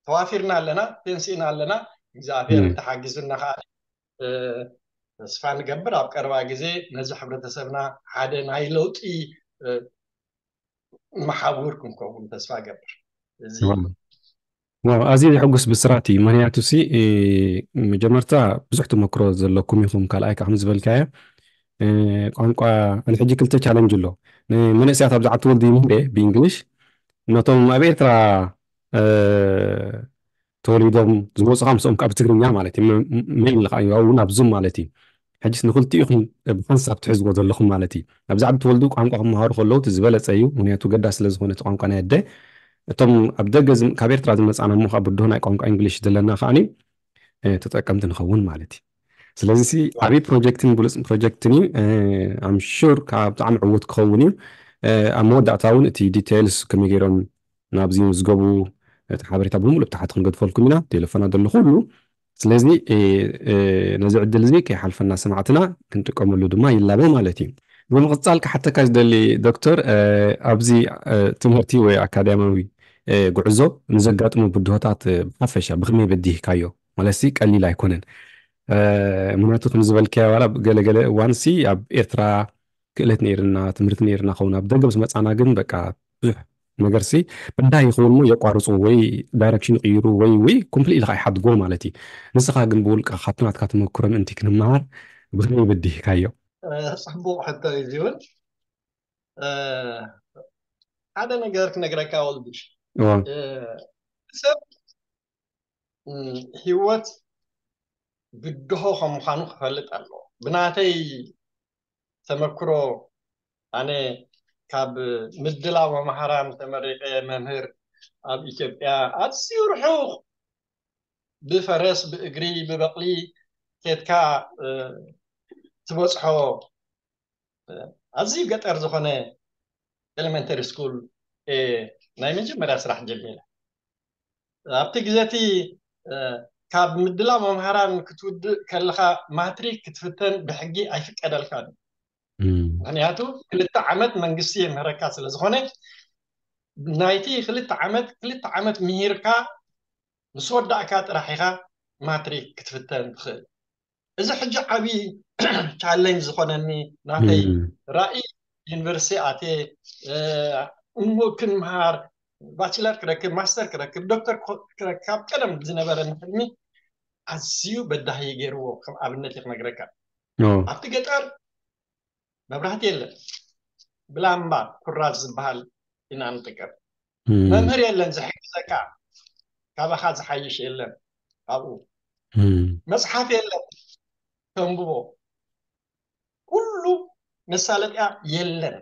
ተዋፊርና ኣለና፣ ተንሲእና ኣለና። እግዚኣብሔር እንተሓጊዙና ከዓ ተስፋ ንገብር ኣብ ቀረባ ግዜ ነዚ ሕብረተሰብና ሓደ ናይ ለውጢ መሓውር ክንከውን ተስፋ ገብር። እዚ ዋው፣ ኣዝዩ ዘሐጉስ ብስራት እዩ። ምክንያቱ ሲ፣ እ፣ መጀመርታ ብዙሕ ተመክሮ ዘለኩም ኢኹም። ካልኣይ ከዓ ከም ዝበልካዮ፣ እ፣ ቋንቋ፣ ኣነ ሕጂ ክልተ ቻለንጅ ኣሎ። ንመንእሰያት ኣብዛ ዓዲ ተወልዱ ይምህር እየ ብእንግሊሽ። ነቶም ኣብ ኤርትራ፣ እ፣ ተወሊዶም ዝመፁ ከዓ ምስኦም ከዓ ብትግርኛ ማለት እዩ። መ-፣ መ-፣ መይን ለካ እዩ፣ ኣብኡ እውን ኣብ ዙም ማለት እዩ። ሕጅስ ንክልቲኡ ኢኹም ብሓንሳብ ትሕዝዎ ዘለኹም ማለት እዩ። ኣብዚ ዓዲ ተወልዱ ቋንቋ ክመሃሩ ከለዉ እቲ ዝበለጸ እዩ። ምክንያቱ ገዳስ ስለ ዝኾነ እቲ ቋንቋ ናይ ኣደ። እቶም ኣብ ደገ ዝም-፣ ካብ ኤርትራ ዝመጻና እሞ ካብ ብድሆ ናይ ቋንቋ እንግሊሽ ዘለና ከኣኒ፣ እ፣ ተጠቀምቲ ንኸውን ማለት እዩ። ስለዚ ሲ ዓብዪ ፕሮጀክትን ብሉጽ ፕሮጀክትን እዩ። እ፣ ኣም ሹር ካብ ብጣዕሚ ዕዉት ክኸውን እዩ። እ፣ ኣብ መወዳእታ እውን እቲ ዲቴይልስ ከመይ ገይሮም ናብዚ ይምዝገቡ፣ እቲ ሓበሬታ ብምሉእ ብታሕቲ ክንገድፈልኩም ኢና። ቴሌፎና ዘሎ ኩሉ። ስለዚ፣ እ፣ እ፣ ነዚ ዕድል እዚ ከይሓልፈና ሰማዕትና ክንጥቀመሉ ድማ ይላበ ማለት እዩ። ብምቕጻል ክሓተካ ዝደሊ ዶክተር፣ እ፣ ኣብዚ፣ እ፣ ትምህርቲ ወይ ኣካዳሚያዊ፣ እ፣ ጉዕዞ ንዘጋጥሙ ብድሆታት፣ እ፣ ብሓፈሻ ብኸመይ በዲህካዮ? ማለት ሲ ቀሊል ኣይኮነን። እ፣ ምክንያቱ ከም ዝበልካዮ ዋላ ገለገለ እዋን ሲ ኣብ ኤርትራ ክእለት ነይርና፣ ትምህርቲ ነይርና ኸውን፣ ኣብ ደገ ምስ መጻና ግን በቃ ብዙሕ ነገር ሲ በዳሂ ይኸውን እሞ የቋርጹ ወይ ዳይረክሽን ይቕይሩ ወይ፣ ወይ ኮምፕሊትሊ ከኣ ይሓድጎ ማለት እዩ። ንስኻ ግን ብውልቅኻ ካብቲ ናትካ ተመክሮ ምእንቲ ክንመሃር ብኸመይ በዲህካዮ? እ፣ ጽቡቕ ሕቶ እዩ እዚ እውን። እ፣ ሓደ ነገር ክነግረካ ወልድሽ። እዋ። እ፣ ሰብ፣ እ፣ ህይወት ብድሆ ከም ምዃኑ ክፈልጥ ኣለዎ። ብናተይ ተመክሮ ኣነ ካብ ምድላው መምሃራን ተመሪቐ መምህር ኣብ ኢትዮጵያ ኣዝዩ ርሑቕ ብፈረስ፣ ብእግሪ፣ ብበቕሊ ኬድካ፣ እ፣ ትበጽሖ፣ እ፣ ኣዝዩ ገጠር ዝኾነ ኤሌመንተሪ ስኩል፣ እ፣ ናይ መጀመርያ ስራሕ ጀሚረ። ኣብቲ ግዜ እቲ፣ እ፣ ካብ ምድላው መምሃራን ክትውድእ ከለኻ ማትሪክ ክትፍተን ብሕጊ ኣይፍቀደልካን እዩ። እም። ምኽንያቱ ክልተ ዓመት መንግስቲ የምህረካ ስለ ዝኾነ፣ ናይቲ ክልተ ዓመት፣ ክልተ ዓመት ምሂርካ ምስ ወዳእካ ጥራሕ ኢኻ ማትሪክ ክትፍተን ትኽእል። እዚ ሕጂ ዓብዪ ቻሌንጅ ዝኾነኒ ናተይ እም። ራእይ ዩኒቨርሲቲ ኣትየ፣ እ፣ እሞ ክንምሃር፣ ባችለር ክረክብ፣ ማስተር ክረክብ፣ ዶክተር ክረክብ፣ ካብ ቀደም ዝነበረኒ ሕልሚ ኣዝዩ በዳሂ ገይርዎ። ከም ኣብነት እየ ክነግረካ። ኦ። ኣብቲ ገጠር መብራህቲ የለን። ብላምባ ኩራዝ ዝበሃል ኢና ንጥቀም። እም። መምህር የለን ዝሕግዘካ፣ ካባኻ ዝሓይሽ የለን ኣብኡ። እም። መጽሓፍ የለን ተንብቦ። ኩሉ መሳለጥያ የለን።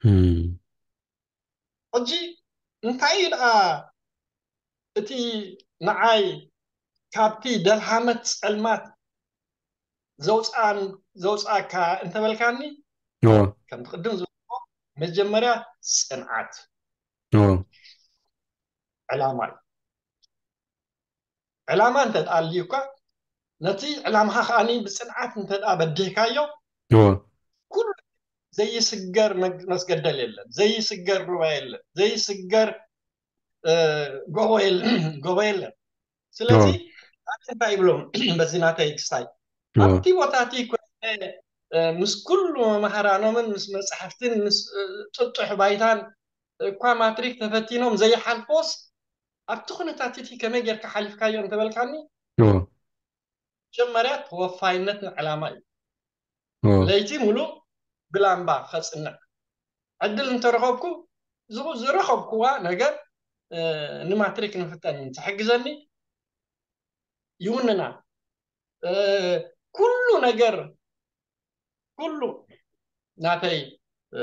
እም። ሕጂ እንታይ እዩ ደኣ እቲ ንዓይ ካብቲ ደልሃመት ጸልማት ዘውጽኣን-፣ ዘውጽኣካ እንተበልካኒ፣ ኦ። ከምቲ ቅድም ዝበልኩ መጀመርያ ጽንዓት ኦ። ዕላማ እዩ። ዕላማ እንተ ደኣ ኣልዩካ፣ ነቲ ዕላማኻ ከኣኒ ብጽንዓት እንተ ደኣ በዲህካዮ፣ ኦ። ኩሉ ዘይስገር መግ-፣ መስገደል የለን፣ ዘይስገር ሩባ የለን፣ ዘይስገር፣ እ፣ ጎቦ የለ-፣ ጎቦ የለን። ስለዚ ኦ። ኣነ እንታይ ይብሎም በዚ ናተይ ክስታይ፣ ኦ። ኣብቲ ቦታ እቲ ኮይነ፣ እ፣ ምስ ኩሉ መምሃራኖምን ምስ መጻሕፍትን ምስ፣ እ፣ ጥጡሕ ባይታን እኳ ማትሪክ ተፈቲኖም ዘይሓልፎስ፣ ኣብቲ ኩነታት እቲ ከመይ ጌርካ ሓሊፍካዮ እንተበልካኒ፣ ኦ። መጀመርያ ተወፋይነት ንዕላማ እዩ። ኦ። ለይቲ ሙሉእ ብላምባ ከጽንዕ ዕድል እንተረኸብኩ፣ ዝኹ-፣ ዝረኸብኩዋ ነገር፣ እ፣ ንማትሪክ ንፍተን ትሕግዘኒ ይውንና። እ፣ ኩሉ ነገር፣ ኩሉ ናተይ፣ እ፣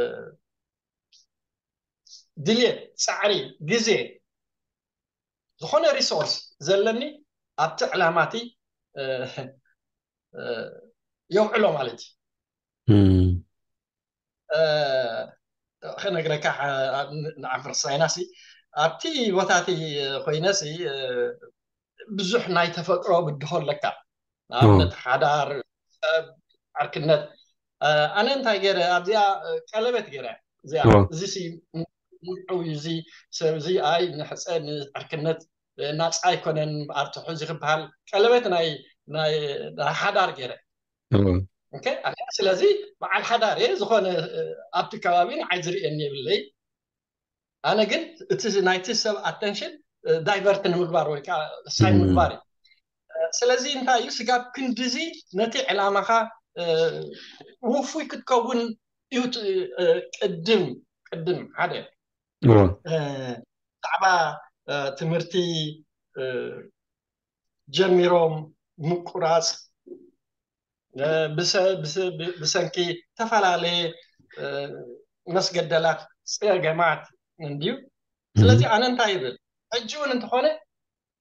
ድልየት፣ ጻዕሪ፣ ግዜ፣ ዝኾነ ሪሶርስ ዘለኒ ኣብቲ ዕላማቲ፣ እ፣ እ፣ የውዕሎ ማለት እዩ። እም። እ፣ ክነግረካ፣ እ፣ ንዓፍር ሳይናሲ ኣብቲ ቦታቲ ኮይነሲ፣ እ፣ ብዙሕ ናይ ተፈጥሮ ብድሆ ኣለካ። ንኣብነት ኦ። ሓዳር፣ ሰብ፣ ዓርክነት። እ፣ ኣነ እንታይ ገይረ ኣብዚኣ፣ እ፣ ቀለበት ገይረ። እዚኣ፣ ኦ። እዚ ሲ ምርዑው እዩ፣ እዚ ሰብ እዚ ኣይ ንሕጸ ንዕርክነት፣ እ፣ ናጻ ኣይኮነን፣ ኣርትሑ እዚ ክበሃል ቀለበት ናይ፣ ናይ፣ ናይ ሓዳር ገይረ። ኦ። ኦኬ፣ ኣነ ስለዚ በዓል ሓዳር እየ፣ ዝኾነ፣ እ፣ ኣብቲ ከባቢ ንዓይ ዝርእየኒ የብለይ። ኣነ ግን እቲ ናይቲ ሰብ ኣተንሽን ዳይቨርት ንምግባር ወይ ከዓ ሳይ ምግባር እዩ። ስለዚ እንታይ እዩ ስጋብ ክንድዚ ነቲ ዕላማኻ ውፉይ ክትከውን እዩ ቅድም ቅድም ሓደ ብዛዕባ ትምህርቲ ጀሚሮም ምቁራፅ ብሰንኪ ዝተፈላለየ መስገደላት ፀገማት እንድዩ። ስለዚ ኣነ እንታይ ይብል ሕጂ እውን እንተኾነ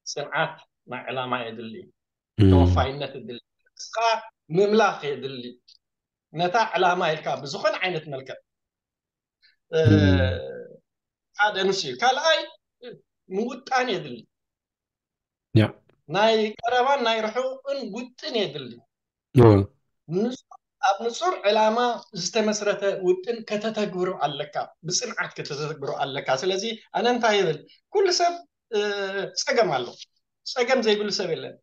ፅንዓት ናይ ዕላማ የድሊ፣ ተወፋይነት የድሊ፣ እስኻ ምምላኽ የድሊ። ነታ ዕላማ ኢልካ ብዝኾነ ዓይነት መልክዕ ሓደ ንሱ እዩ። ካልኣይ ምውጣን የድሊ። ናይ ቀረባን ናይ ርሑቕን ውጥን የድሊ። ኣብ ንጹር ዕላማ ዝተመስረተ ውጥን ከተተግብሮ ኣለካ፣ ብፅንዓት ከተተግብሮ ኣለካ። ስለዚ ኣነ እንታይ ይብል፣ ኩሉ ሰብ ፀገም ኣሎ፣ ፀገም ዘይብሉ ሰብ የለን።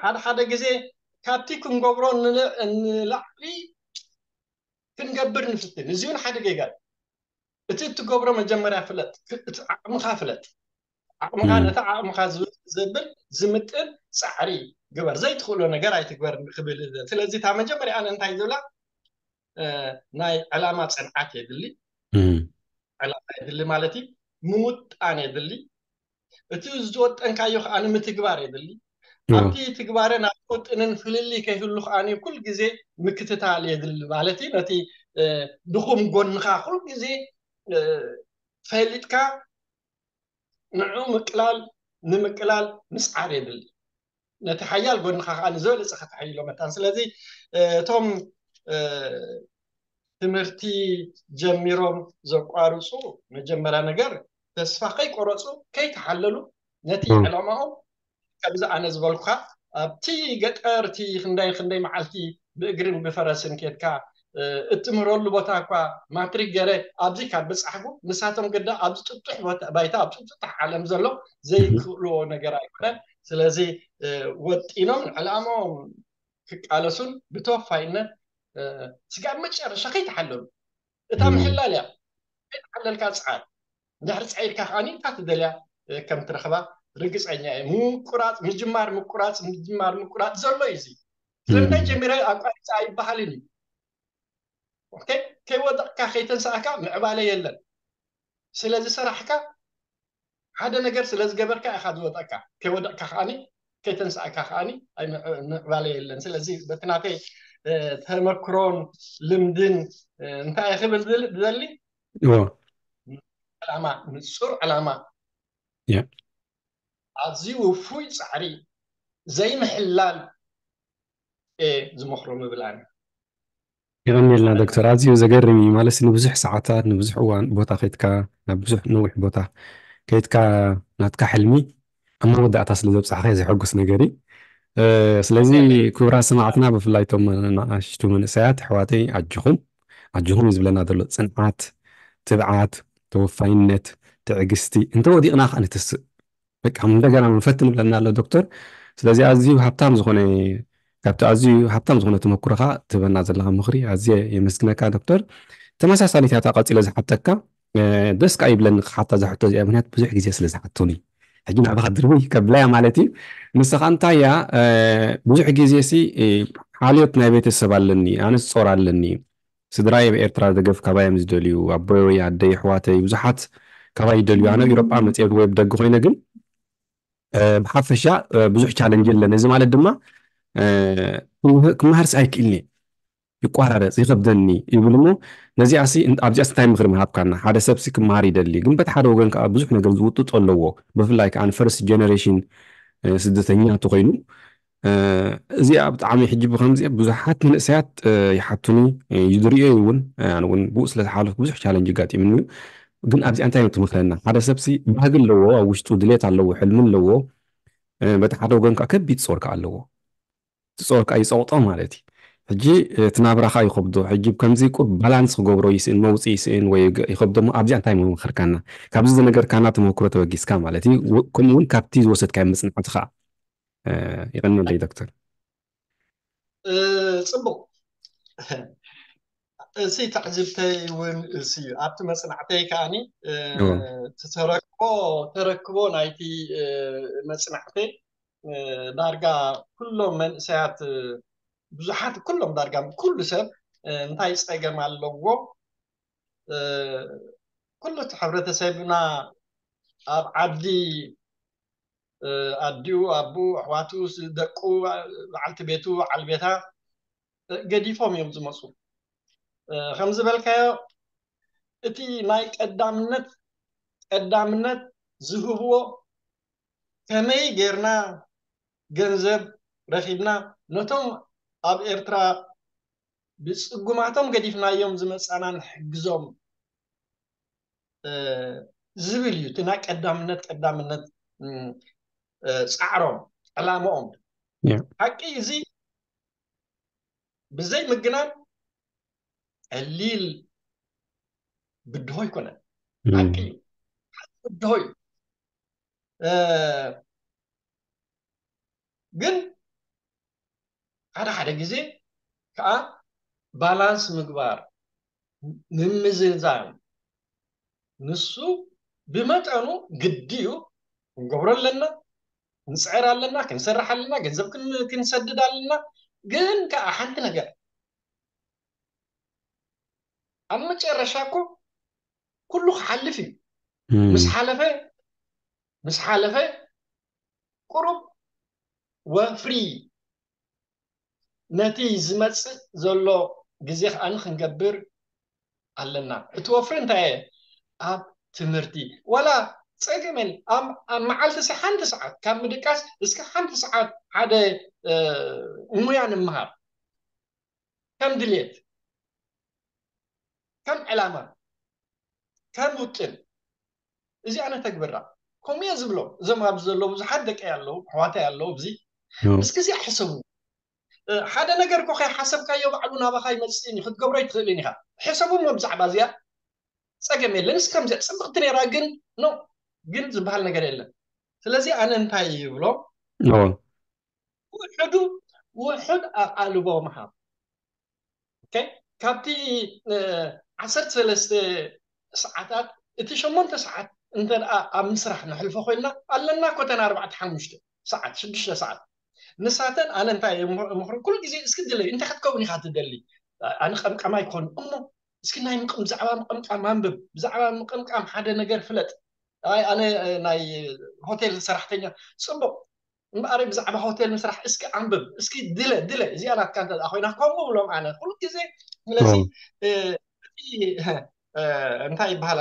ሓደ ሓደ ግዜ ካብቲ ክንገብሮ ንላዕሊ ክንገብር ንፍትን። እዚ እውን ሓደ ጌጋ እዩ። እቲ እትገብሮ መጀመርያ ፍለጥ፣ ዓቕምኻ ፍለጥ። ዓቕምኻ ነቲ ዓቕምኻ ዘብል ዝምጥን ፃዕሪ ግበር። ዘይትኽእሎ ነገር ኣይትግበር ክብል። ስለዚ እታ መጀመርያ ኣነ እንታይ ዝብላ ናይ ዕላማ ፅንዓት የድሊ። ዕላማ የድሊ ማለት እዩ ምውጣን የድሊ። እቲ ዝወጠንካዮ ከዓ ንምትግባር የድሊ። ኣብቲ ትግባረ ናብ ውጥንን ፍልልይ ከይህሉ ከዓ ኩል ግዜ ምክትታል የድሊ ማለት እዩ። ነቲ ድኹም ጎንኻ ኩል ግዜ ፈሊጥካ ንዑ ምቅላል ንምቅላል ምስዓር የድሊ። ነቲ ሓያል ጎንኻ ከዓ ንዝበለፀ ከተሓይሎ መታን። ስለዚ እቶም ትምህርቲ ጀሚሮም ዘቋርፁ መጀመርያ ነገር ተስፋ ከይቆረፁ ከይተሓለሉ ነቲ ዕላማኦም ከምዚ ኣነ ዝበልኩካ ኣብቲ ገጠር እቲ ክንደይ ክንደይ መዓልቲ ብእግርን ብፈረስን ኬድካ እትምህረሉ ቦታ እኳ ማትሪክ ገረ ኣብዚ ካብ በፃሕኩ ንሳቶም ግዳ ኣብዚ ጥጡሕ ባይታ ኣብ ጥጡሕ ዓለም ዘሎ ዘይክእልዎ ነገር ኣይኮነን። ስለዚ ወጢኖም ንዕላማኦም ክቃለሱን ብተወፋይነት ስጋብ መጨረሻ ከይተሓለሉ እታ ምሕላል እያ። ከይተሓለልካ ፀዓር እንድሕር ፀዒርካ ከዓኒ እታ ትደልያ ከም ትረኽባ ርግፀኛ እየ። ምቁራፅ ምጅማር ምቁራፅ ምጅማር ምቁራፅ ዘሎ እዩ። እዚ ስለምንታይ ጀሚረ ኣቋሪፀ ኣይበሃልን እዩ። ከይወደቕካ ከይተንሳእካ ምዕባለ የለን። ስለዚ ስራሕካ ሓደ ነገር ስለ ዝገበርካ ኢኻ ዝወደቕካ። ከይወደቕካ ከዓኒ ከይተንሳእካ ከዓኒ ምዕባለ የለን። ስለዚ በቲ ናተይ ተመክሮን ልምድን እንታይ ክብል ዝደሊ ዕላማ ንፁር ዕላማ ኣዝዩ ውፉይ ፃዕሪ ዘይምሕላል ዝመክሮ ምብላን። የቐንየልና ዶክተር፣ ኣዝዩ ዘገርም እዩ። ማለት ንብዙሕ ሰዓታት ንብዙሕ እዋን ቦታ ከይትካ ናብ ብዙሕ ነዊሕ ቦታ ከይትካ ናትካ ሕልሚ ኣብ መወዳእታ ስለ ዘብፃሕካ ዘሐጉስ ነገር እዩ። ስለዚ ክቡራት ሰማዕትና ብፍላይ ቶም ንኣሽቱ መንእሰያት ኣሕዋተይ ኣጆኹም ኣጆኹም እዩ ዝብለና ዘሎ። ፅንዓት፣ ትብዓት፣ ተወፋይነት፣ ትዕግስቲ እንተወዲቕና ከዓ ንትስእ በቃ እንደገና ንፈትን ይብለና ኣሎ ዶክተር። ስለዚ ኣዝዩ ሃብታም ዝኾነ ካብቲ ኣዝዩ ሃብታም ዝኾነ ተመክሮኻ ትህበና ዘለኻ ምኽሪ ኣዝየ የመስግነካ ዶክተር። ተመሳሳሊት እያ እታ ቀፂለ ዝሓተካ ደስ ከዓ ይብለኒ ክሓታ ዝሕቶ እዚኣ ምክንያት ብዙሕ ግዜ ስለ ዝሓቱኒ ሕጂ ናባኻ ድርብይ ከብለያ ማለት እዩ። ንስኻ እንታይ እያ ብዙሕ ግዜ ሲ ሓልዮት ናይ ቤተሰብ ኣለኒ ኣነስ ጾር ኣለኒ ስድራይ ኣብ ኤርትራ ደገፍ ካባይ እዮም ዝደልዩ ኣቦይ ኣደይ ኣሕዋተይ ብዙሓት ካባይ ይደልዩ ኣነ ኣብ ኤሮጳ መፅኤ ወይ ብደጊ ኮይነ ግን ብሓፈሻ ብዙሕ ቻለንጅ የለን እዚ ማለት ድማ ክመሃርስ ኣይክእልኒ ይቋራረፅ ይከብደኒ ይብል እሞ ነዚኣሲ ኣብዚኣስ እንታይ ምክሪ ምሃብካና ሓደ ሰብሲ ክመሃር ይደሊ ግን በቲ ሓደ ወገን ከዓ ብዙሕ ነገር ዝውጥጦ ኣለዎ ብፍላይ ከዓ ፈርስት ጀነሬሽን ስደተኛ እንተኮይኑ እዚኣ ብጣዕሚ ሕጂ ብከምዚ ብዙሓት መንእሰያት ይሓቱኒ ይድርዮ እውን ኣነ እውን ብኡ ስለ ዝሓለፍኩ ብዙሕ ቻለንጅ ጋጢምኒ እዩ ግን ኣብዚኣ እንታይ ትምክረና ሓደ ሰብሲ ባህጊ ኣለዎ ኣብ ውሽጡ ድሌት ኣለዎ ሕልሚ ኣለዎ በቲ ሓደ ወገን ከዓ ከቢድ ጾር ከዓ ኣለዎ እቲ ጾር ከዓ ይፀቕጦ ማለት እዩ ሕጂ እቲ ናብራኻ ይኸብዶ ሕጂ ከምዚ ቁር ባላንስ ክገብሮ ይስእን መውፅእ ይስእን ወይ ይኸብዶ ኣብዚኣ እንታይ ምምክርካና ካብዚ ዝነገርካና ተመክሮ ተበጊስካ ማለት እዩ ከምኡ እውን ካብቲ ዝወሰድካዮ መፅናዕቲ ከዓ ይቐንየለይ ዶክተር ፅቡቅ እሲ ትዕዝብተይ እውን እሲ እዩ። ኣብቲ መጽናዕተይ ከዓኒ ተረክቦ ተረክቦ ናይቲ መጽናዕተይ ዳርጋ ኩሎም መንእሰያት፣ ብዙሓት፣ ኩሎም ዳርጋ ኩሉ ሰብ እንታይ ጸገም ኣለዎ? ኩሉ እቲ ሕብረተሰብና ኣብ ዓዲ ኣዲኡ፣ ኣቦኡ፣ ኣሕዋቱ፣ ደቁ፣ በዓልቲ ቤቱ፣ በዓል ቤታ ገዲፎም እዮም ዝመፁ። ከም ዝበልካዮ እቲ ናይ ቀዳምነት ቀዳምነት ዝህብዎ ከመይ ጌርና ገንዘብ ረኺብና ነቶም ኣብ ኤርትራ ብጽጉማቶም ገዲፍናዮም ዝመጻና ንሕግዞም ዝብል እዩ እቲ ናይ ቀዳምነት ቀዳምነት ጻዕሮም ዕላማኦም። ሓቂ እዚ ብዘይ ምግናን ቀሊል ብድሆ ኣይኮነን። ሓቂ እዩ፣ ብድሆ እዩ። ግን ሓደ ሓደ ግዜ ከዓ ባላንስ ምግባር፣ ምምዝዛን፣ ንሱ ብመጠኑ ግዲ እዩ። ክንገብሮ ኣለና፣ ክንፅዕር ኣለና፣ ክንሰርሕ ኣለና፣ ገንዘብ ክንሰድድ ኣለና። ግን ከዓ ሓንቲ ነገር ኣብ መጨረሻ እኮ ኩሉ ክሓልፍ እዩ። ምስ ሓለፈ ምስ ሓለፈ ቁሩብ ወፍሪ ነቲ ዝመፅእ ዘሎ ግዜ ከዓኒ ክንገብር ኣለና። እቲ ወፍሪ እንታይ እየ? ኣብ ትምህርቲ ዋላ ፀገመን ኣብ መዓልቲ ሲ ሓንቲ ሰዓት ካብ ምድቃስ እስከ ሓንቲ ሰዓት ሓደ ሙያ ንምሃር ከም ድልየት ከም ዕላማ ከም ውጥን እዚ ኣነ ተግብራ ከምኡ እየ ዝብሎ። እዞም ኣብዚ ዘለዉ ብዙሓት ደቂ ኣለዉ ኣሕዋታይ ኣለዉ እዚ እስኪ እዚኣ ሕሰቡ። ሓደ ነገር እኮ ከይሓሰብካዮ ባዕሉ ናባኻ ይመፅእን እዩ ክትገብሮ ኣይትኽእልን ኢኻ። ሕሰቡ እሞ ብዛዕባ እዚኣ ፀገም የለን። እስከ ከምዚኣ ፅብቕቲ ነይራ ግን ኖ ግን ዝበሃል ነገር የለን። ስለዚ ኣነ እንታይ ይብሎ ውሕዱ ውሕድ ኣቓልቦ ምሃብ። ካብቲ ዓሰርተ ሰለስተ ሰዓታት እቲ ሸሞንተ ሰዓት እንተ ኣብ ምስራሕ ነሕልፎ ኮይና ኣለና ኮተና ኣርባዕተ ሓሙሽተ ሰዓት ሽዱሽተ ሰዓት ንሳተን ኣነ እንታይ ምኽሪ ኩሉ ግዜ እስኪ ድለይ እንታይ ክትከውን ኢኻ ትደሊ? ኣነ ቀምቀም ኣይኮን እሞ እስኪ ናይ ምቅም ብዛዕባ ምቅምቃም ኣንብብ፣ ብዛዕባ ምቅምቃም ሓደ ነገር ፍለጥ። ኣይ ኣነ ናይ ሆቴል ሰራሕተኛ ጽቡቅ እምበኣረይ ብዛዕባ ሆቴል ምስራሕ እስኪ ኣንብብ እስኪ ድለ ድለ እዚኣ ናትካ እንተ ኮይና ከምኡ ብሎም ኣነ ኩሉ ግዜ ስለዚ እቲ እንታይ ይበሃል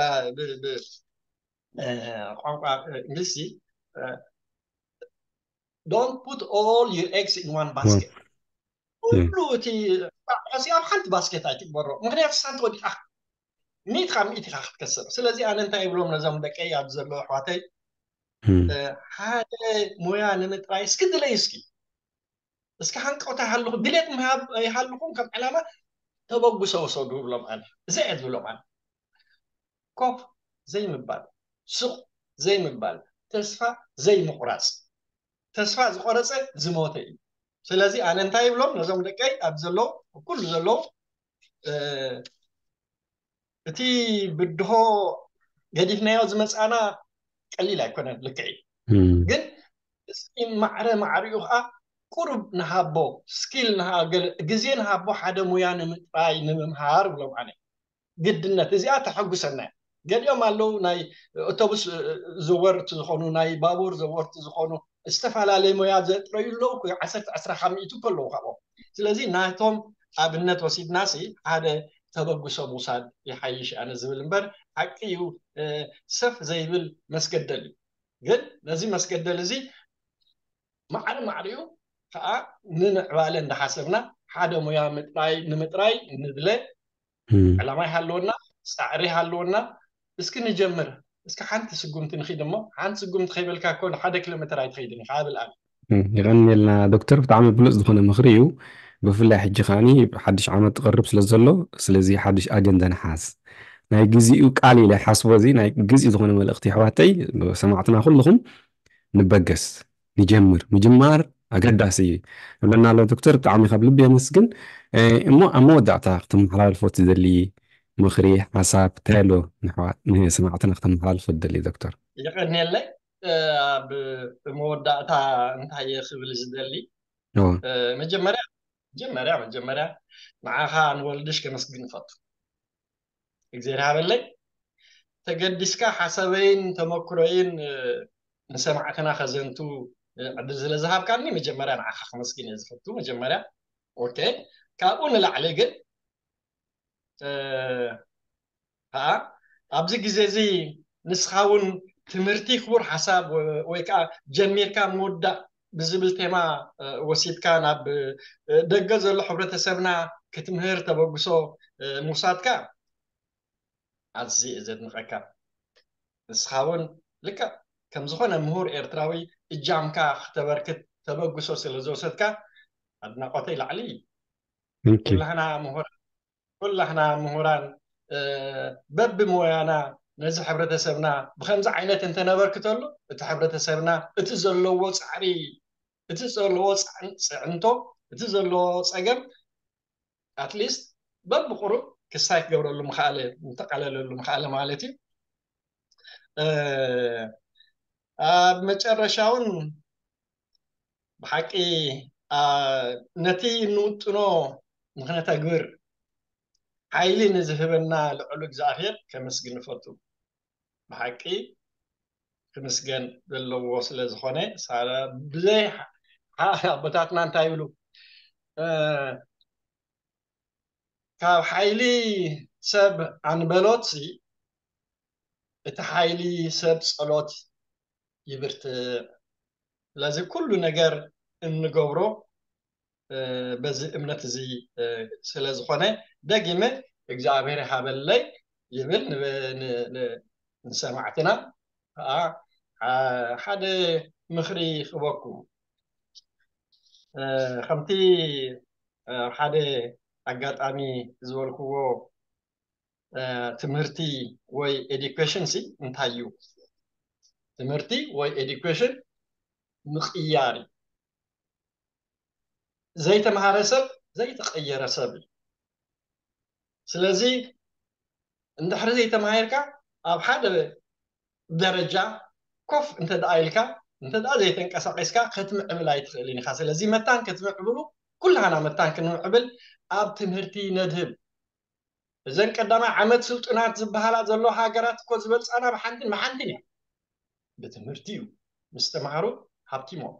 ቋንቋ እንግሊዝ don't put all your eggs in one basket ኩሉ እቲ ጣዕሲ ኣብ ሓንቲ ባስኬት ኣይትግበሮ ምክንያቱ ሳንቲ ወዲቃ ሚእቲ ካብ ሚእቲ ኢኻ ክትከስር ስለዚ ኣነ እንታይ ይብሎም ነዞም ደቀይ ኣብ ዘሎ ኣሕዋተይ ሓደ ሞያ ንምጥራይ እስኪ ድለይ እስኪ እስኪ ሃንቀውታ ይሃልኹ ድሌት ይሃልኹም ከም ዕላማ ተበግሶ ውሰዱ ይብሎም ኣነ እዚ እየ ዝብሎም ኣነ ኮፍ ዘይምባል ስቕ ዘይምባል ተስፋ ዘይምቑራፅ ተስፋ ዝቆረፀ ዝሞተ እዩ ስለዚ ኣነ እንታይ ይብሎም ነዞም ደቀይ ኣብ ዘለዉ ኩሉ ዘለዉ እቲ ብድሆ ገዲፍናዮ ዝመፃና ቀሊል ኣይኮነን ልክዕ እዩ ግን እስኪ ማዕረ ማዕሪኡ ከዓ ቁሩብ ንሃቦ ስኪል ግዜ ንሃቦ ሓደ ሙያ ንምጥራይ ንምምሃር ብሎም ኣነ ግድነት እዚኣ ተሐጉሰና ገሊኦም ኣለዉ ናይ ኣውቶቡስ ዘወርቲ ዝኾኑ ናይ ባቡር ዘወርቲ ዝኾኑ ዝተፈላለየ ሞያ ዘጥረዩ ኣለዉ ዓሰርተ ዕስራ ካብ ሚእቱ ከለዉ ካብኦም ስለዚ ናቶም ኣብነት ወሲድናሲ ሓደ ተበግሶ ምውሳድ ይሓይሽ ኣነ ዝብል እምበር ሓቂ እዩ ሰፍ ዘይብል መስገደል እዩ ግን ነዚ መስገደል እዚ ማዕረ ማዕሪኡ ከዓ ንምዕባለ እንዳሓሰብና ሓደ ሙያ ምጥራይ ንምጥራይ ንድለ ዕላማ ይሃለወና ፃዕሪ ይሃለወና እስኪ ንጀምር እስኪ ሓንቲ ስጉምቲ ንኺድ እሞ ሓንቲ ስጉምቲ ከይበልካ እኮ ሓደ ኪሎ ሜትር ኣይትኸይድን ኢኻ ብል ኣነ የቐንየልና ዶክተር ብጣዕሚ ብሉፅ ዝኾነ ምኽሪ እዩ ብፍላይ ሕጂ ከዓኒ ሓድሽ ዓመት ትቐርብ ስለ ዘሎ ስለዚ ሓድሽ ኣጀንዳ ንሓዝ ናይ ግዚኡ ቃል ኢለ ሓስቦ እዚ ናይ ግዚ ዝኾነ መልእኽቲ ኣሕዋተይ ሰማዕትና ኩልኹም ንበገስ ንጀምር ምጅማር ኣገዳሲ እዩ። እብለና ኣሎ ዶክተር፣ ብጣዕሚ ካብ ልቢ የመስግን። እሞ ኣብ መወዳእታ ክተመሓላልፎ ትደሊ ምኽሪ፣ ሓሳብ እንታይ ኣሎ ንኣሕዋት ንሰማዕትና ክተመሓላልፎ ትደሊ ዶክተር? የቐንየለይ። ኣብ መወዳእታ እንታይ እየ ክብል ዝደሊ? መጀመርያ መጀመርያ መጀመርያ ንዓኻ ንወልድሽ ከመስግን እፈቱ። እግዜር ሃበለይ፣ ተገዲስካ ሓሳበይን ተመክሮይን ንሰማዕትና ከዘንቱ ዕድል ስለ ዝሃብካኒ መጀመርያ ንዓኻ ከመስግን እየ ዝፈቱ። መጀመርያ ኦኬ። ካብኡ ንላዕሊ ግን ከዓ ኣብዚ ግዜ እዚ ንስኻ እውን ትምህርቲ ክቡር ሓሳብ ወይ ከዓ ጀሚርካ ምውዳእ ብዝብል ቴማ ወሲድካ ናብ ደገ ዘሎ ሕብረተሰብና ክትምህር ተበግሶ ምውሳድካ ኣዝየ እየ ዘድንቐካ። ንስኻ እውን ልክዕ ከም ዝኾነ ምሁር ኤርትራዊ እጃምካ ክተበርክት ተበግሶ ስለ ዝወሰድካ ኣድናቖተይ ላዕሊ እዩ። ኩላህና ምሁር ኩላህና ምሁራን በብሞያና ነዚ ሕብረተሰብና ብከምዚ ዓይነት እንተነበርክተሉ እቲ ሕብረተሰብና እቲ ዘለዎ ፃዕሪ እቲ ዘለዎ ፅዕንቶ እቲ ዘለዎ ፀገም ኣትሊስት በብቁሩብ ክሳይ ክገብረሉ ምክኣለ ምተቃለለሉ ምክኣለ ማለት እዩ። ኣብ መጨረሻውን ብሓቂ ነቲ እንውጥኖ ንክነተግብር ሓይሊ ንዝህበና ልዑል እግዚኣብሔር ከመስግን ንፈቱ። ብሓቂ ክምስገን ዘለዎ ስለ ዝኾነ ብዘይ ኣቦታትና እንታይ ይብሉ ካብ ሓይሊ ሰብ ኣንበሎት እቲ ሓይሊ ሰብ ጸሎት ይብርትዕ። ስለዚ ኩሉ ነገር እንገብሮ በዚ እምነት እዚ ስለ ዝኾነ ደጊመ እግዚኣብሔር ይሃበለይ ይብል ንሰማዕትና ከዓ ሓደ ምኽሪ ክበኩም ከምቲ ሓደ ኣጋጣሚ ዝበልክዎ ትምህርቲ ወይ ኤዱኬሽን ሲ እንታይ እዩ? ትምህርቲ ወይ ኤዱኬሽን ምቕያር እዩ። ዘይተምሃረ ሰብ ዘይተቐየረ ሰብ እዩ። ስለዚ እንድሕሪ ዘይተማሂርካ ኣብ ሓደ ደረጃ ኮፍ እንተ ደኣ ኢልካ እንተ ደኣ ዘይተንቀሳቂስካ ክትምዕብል ኣይትኽእልን ኢኻ። ስለዚ መታን ክትምዕብሉ ኩላህና መታን ክንምዕብል ኣብ ትምህርቲ ነድህብ። እዘን ቀዳማይ ዓመት ስልጡናት ዝበሃላ ዘለዋ ሃገራት እኮ ዝበልፃና ብሓንትን ብሓንትን እያ። ብትምህርቲ እዩ። ምስ ተምሃሩ ሃብቲሞም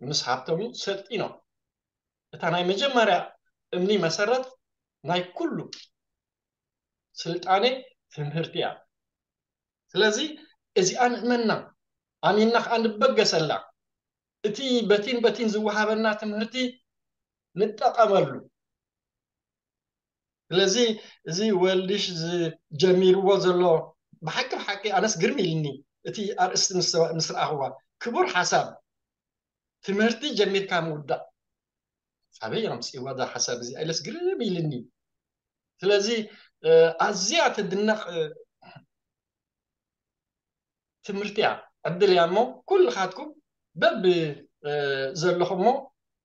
ምስ ሃብተሙ ሰልጢኖም። እታ ናይ መጀመርያ እምኒ መሰረት ናይ ኩሉ ስልጣኔ ትምህርቲ እያ። ስለዚ እዚኣ ንእመና ኣሚንና ከዓ ንበገሰላ። እቲ በቲን በቲን ዝወሃበና ትምህርቲ ንጠቐመሉ። ስለዚ እዚ ወልድሽ ዝጀሚርዎ ዘሎ ብሓቂ ብሓቂ ኣነስ ግርም ኢልኒ እቲ ኣርእስቲ ምስ ረኣኽዋ ክቡር ሓሳብ ትምህርቲ ጀሚርካ ምውዳእ ኣበይ ኣምፅእዋ እዛ ሓሳብ እዚ ኣይለስ ግርም ኢልኒ። ስለዚ ኣዝያ ትድነቕ ትምህርቲ እያ ዕድል እያ እሞ ኩልኻትኩም በብ ዘለኹሞ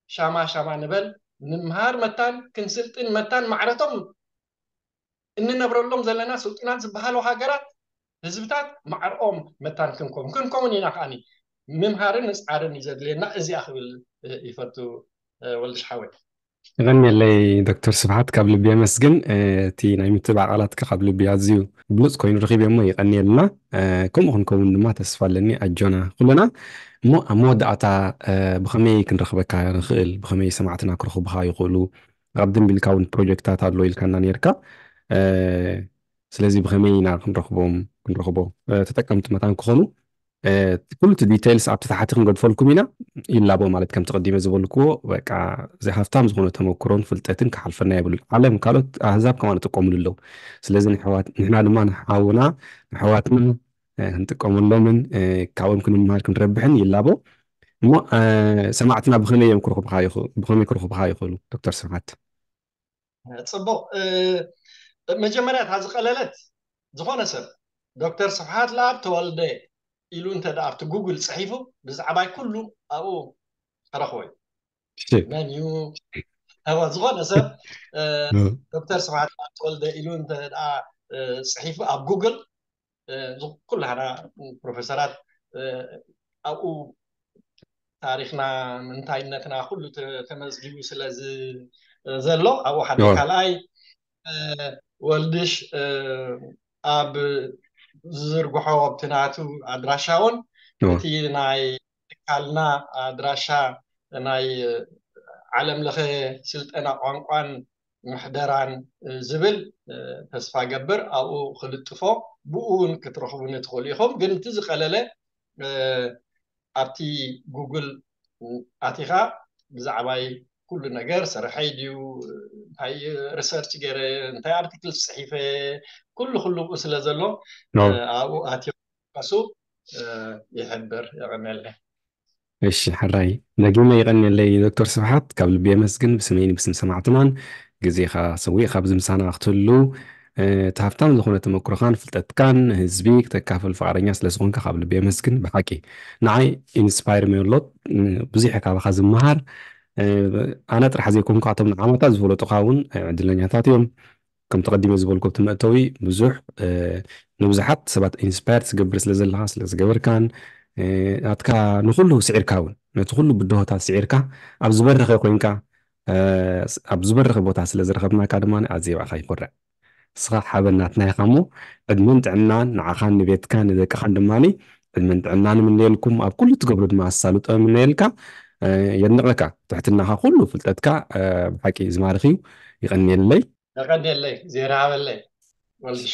ሻማ ሻማ ንበል ንምሃር መታን ክንስልጥን መታን ማዕረቶም እንነብረሎም ዘለና ስልጡናት ዝበሃሉ ሃገራት ህዝብታት ማዕርኦም መታን ክንከውን ክንከውን ኢና ከዓኒ ምምሃርን ምፅዓርን እዩ ዘድልየና እዚኣ ክብል ይፈቱ ወልድሽ ሓወይ። ይቐንየለይ ዶክተር ስብሓት ካብ ልቢ የመስግን። እቲ ናይ ምትባዕ ቃላትካ ካብ ልቢ ኣዝዩ ብሉፅ ኮይኑ ረኺበ እሞ ይቐንየልና። ከምኡ ክንከውን ድማ ተስፋ ኣለኒ። ኣጆና ኩልና እሞ ኣብ መወዳእታ ብኸመይ ክንረኽበካ ንኽእል? ብኸመይ ሰማዕትና ክረኽቡኻ ይኽእሉ? ኣብ ደንቢልካ እውን ፕሮጀክታት ኣሎ ኢልካና ነርካ። ስለዚ ብኸመይ ኢና ክንረኽቦም ክንረኽቦ ተጠቀምቲ መታን ክኾኑ ኩሉ እቲ ዲቴይልስ ኣብቲ ታሕቲ ክንገድፈልኩም ኢና። ይላቦ ማለት ከምቲ ቀዲመ ዝበልክዎ በቃ እዚ ሃፍታም ዝኾነ ተመክሮን ፍልጠትን ክሓልፈና የብሉን። ዓለም ካልኦት ኣህዛብ ከማን ይጥቀምሉ ኣለዉ። ስለዚ ንሕዋት ንሕና ድማ ንሓውና ንሕዋትና ክንጥቀመሎምን ካብኦም ክንምሃር ክንረብሕን ይላቦ። እሞ ሰማዕትና ብኸመይ እዮም ክረኽቡኻ ይኽእሉ? ዶክተር ስብሓት ፅቡቕ። መጀመርያ እታ ዝቐለለት ዝኾነ ሰብ ዶክተር ስብሓት ለኣብ ተወልደ ኢሉ እንተ ኣብቲ ጉግል ፅሒፉ ብዛዕባይ ኩሉ ኣብኡ ተረኽቦ እዩ። ሽክ መን እዩ? እወ፣ ዝኾነ ሰብ እ፣ እ፣ ዶክተር ስብሓት ተወልደ ኢሉ እንተ ደኣ እ፣ ጽሒፉ ኣብ ጉግል እ፣ እዚ ኩላህና ፕሮፌሰራት እ፣ ኣብኡ ታሪኽና፣ ምንታይነትና ኩሉ ተ- ተመዝጊቡ ስለ ዝ- ዘሎ ኣብኡ ሓደ እወ ካልኣይ እ፣ ወልድሽ እ፣ ኣብ ዝዝርግሖ ኣብቲ ናቱ ኣድራሻ እውን እወ እቲ ናይ ትካልና ኣድራሻ ናይ ዓለም ለኸ ስልጠና ቋንቋን ምሕደራን ዝብል ተስፋ ገብር ኣብኡ ክልጥፎ ብኡ እውን ክትረኽቡኒ ትኽእሉ ኢኹም። ግን እቲ ዝቐለለ ኣብቲ ጉግል ኣቲኻ ብዛዕባይ ኩሉ ነገር ስርሐይ ድዩ እንታይ ሪሰርች ገይረ እንታይ ኣርቲክል ፅሒፈ ኩሉ ኩሉ ብኡ ስለ ዘሎ ኣብኡ ኣትዮም ከሱ ይሕብር። የቐንየለይ። እሺ ሕራይ ደጊመ ይቐንየለይ ዶክተር ስብሓት፣ ካብ ልቢ የመስግን። ብስመይን ብስም ሰማዕትናን ግዜኻ ሰዊእኻ ኣብዚ ምሳና ክትህሉ እቲ ሃብታም ዝኾነ ተመክሮኻን ፍልጠትካን ህዝቢ ክተካፍል ፍቓደኛ ስለ ዝኾንካ ካብ ልቢ የመስግን። ብሓቂ ንዓይ ኢንስፓየር ሜሎት ብዙሕ ካባኻ ዝመሃር ኣነ ጥራሕ ዘይኮንኩ ኣቶም ንዓመታት ዝፈለጡኻ እውን ዕድለኛታት እዮም። ከም ተቐዲመ ዝበልኩ ኣብቲ መእተዊ ብዙሕ ንብዙሓት ሰባት ኢንስፓየር ትገብር ስለ ዘለኻ ስለ ዝገበርካን ናትካ ንኩሉ ስዒርካ እውን ነቲ ኩሉ ብድሆታት ስዒርካ ኣብ ዝበረኸ ኮይንካ ኣብ ዝበረኸ ቦታ ስለ ዝረኸብናካ ድማ ኣዝየ ብኣኻ ይኮርዕ። ንስኻ ሓበን ናትና ኢኻ እሞ ዕድመን ጥዕናን ንዓኻን ንቤትካን ንደቅኻን ድማ ዕድመን ጥዕናን እምነየልኩም። ኣብ ኩሉ ትገብሮ ድማ ኣሳልጦ እምነየልካ። የድንቐካ ትሕትናኻ ኩሉ ፍልጠትካ ብሓቂ ዝማርኽ እዩ። ይቐንየለይ። የቐንየለይ። ዜና ሃበለይ ወልድሽ።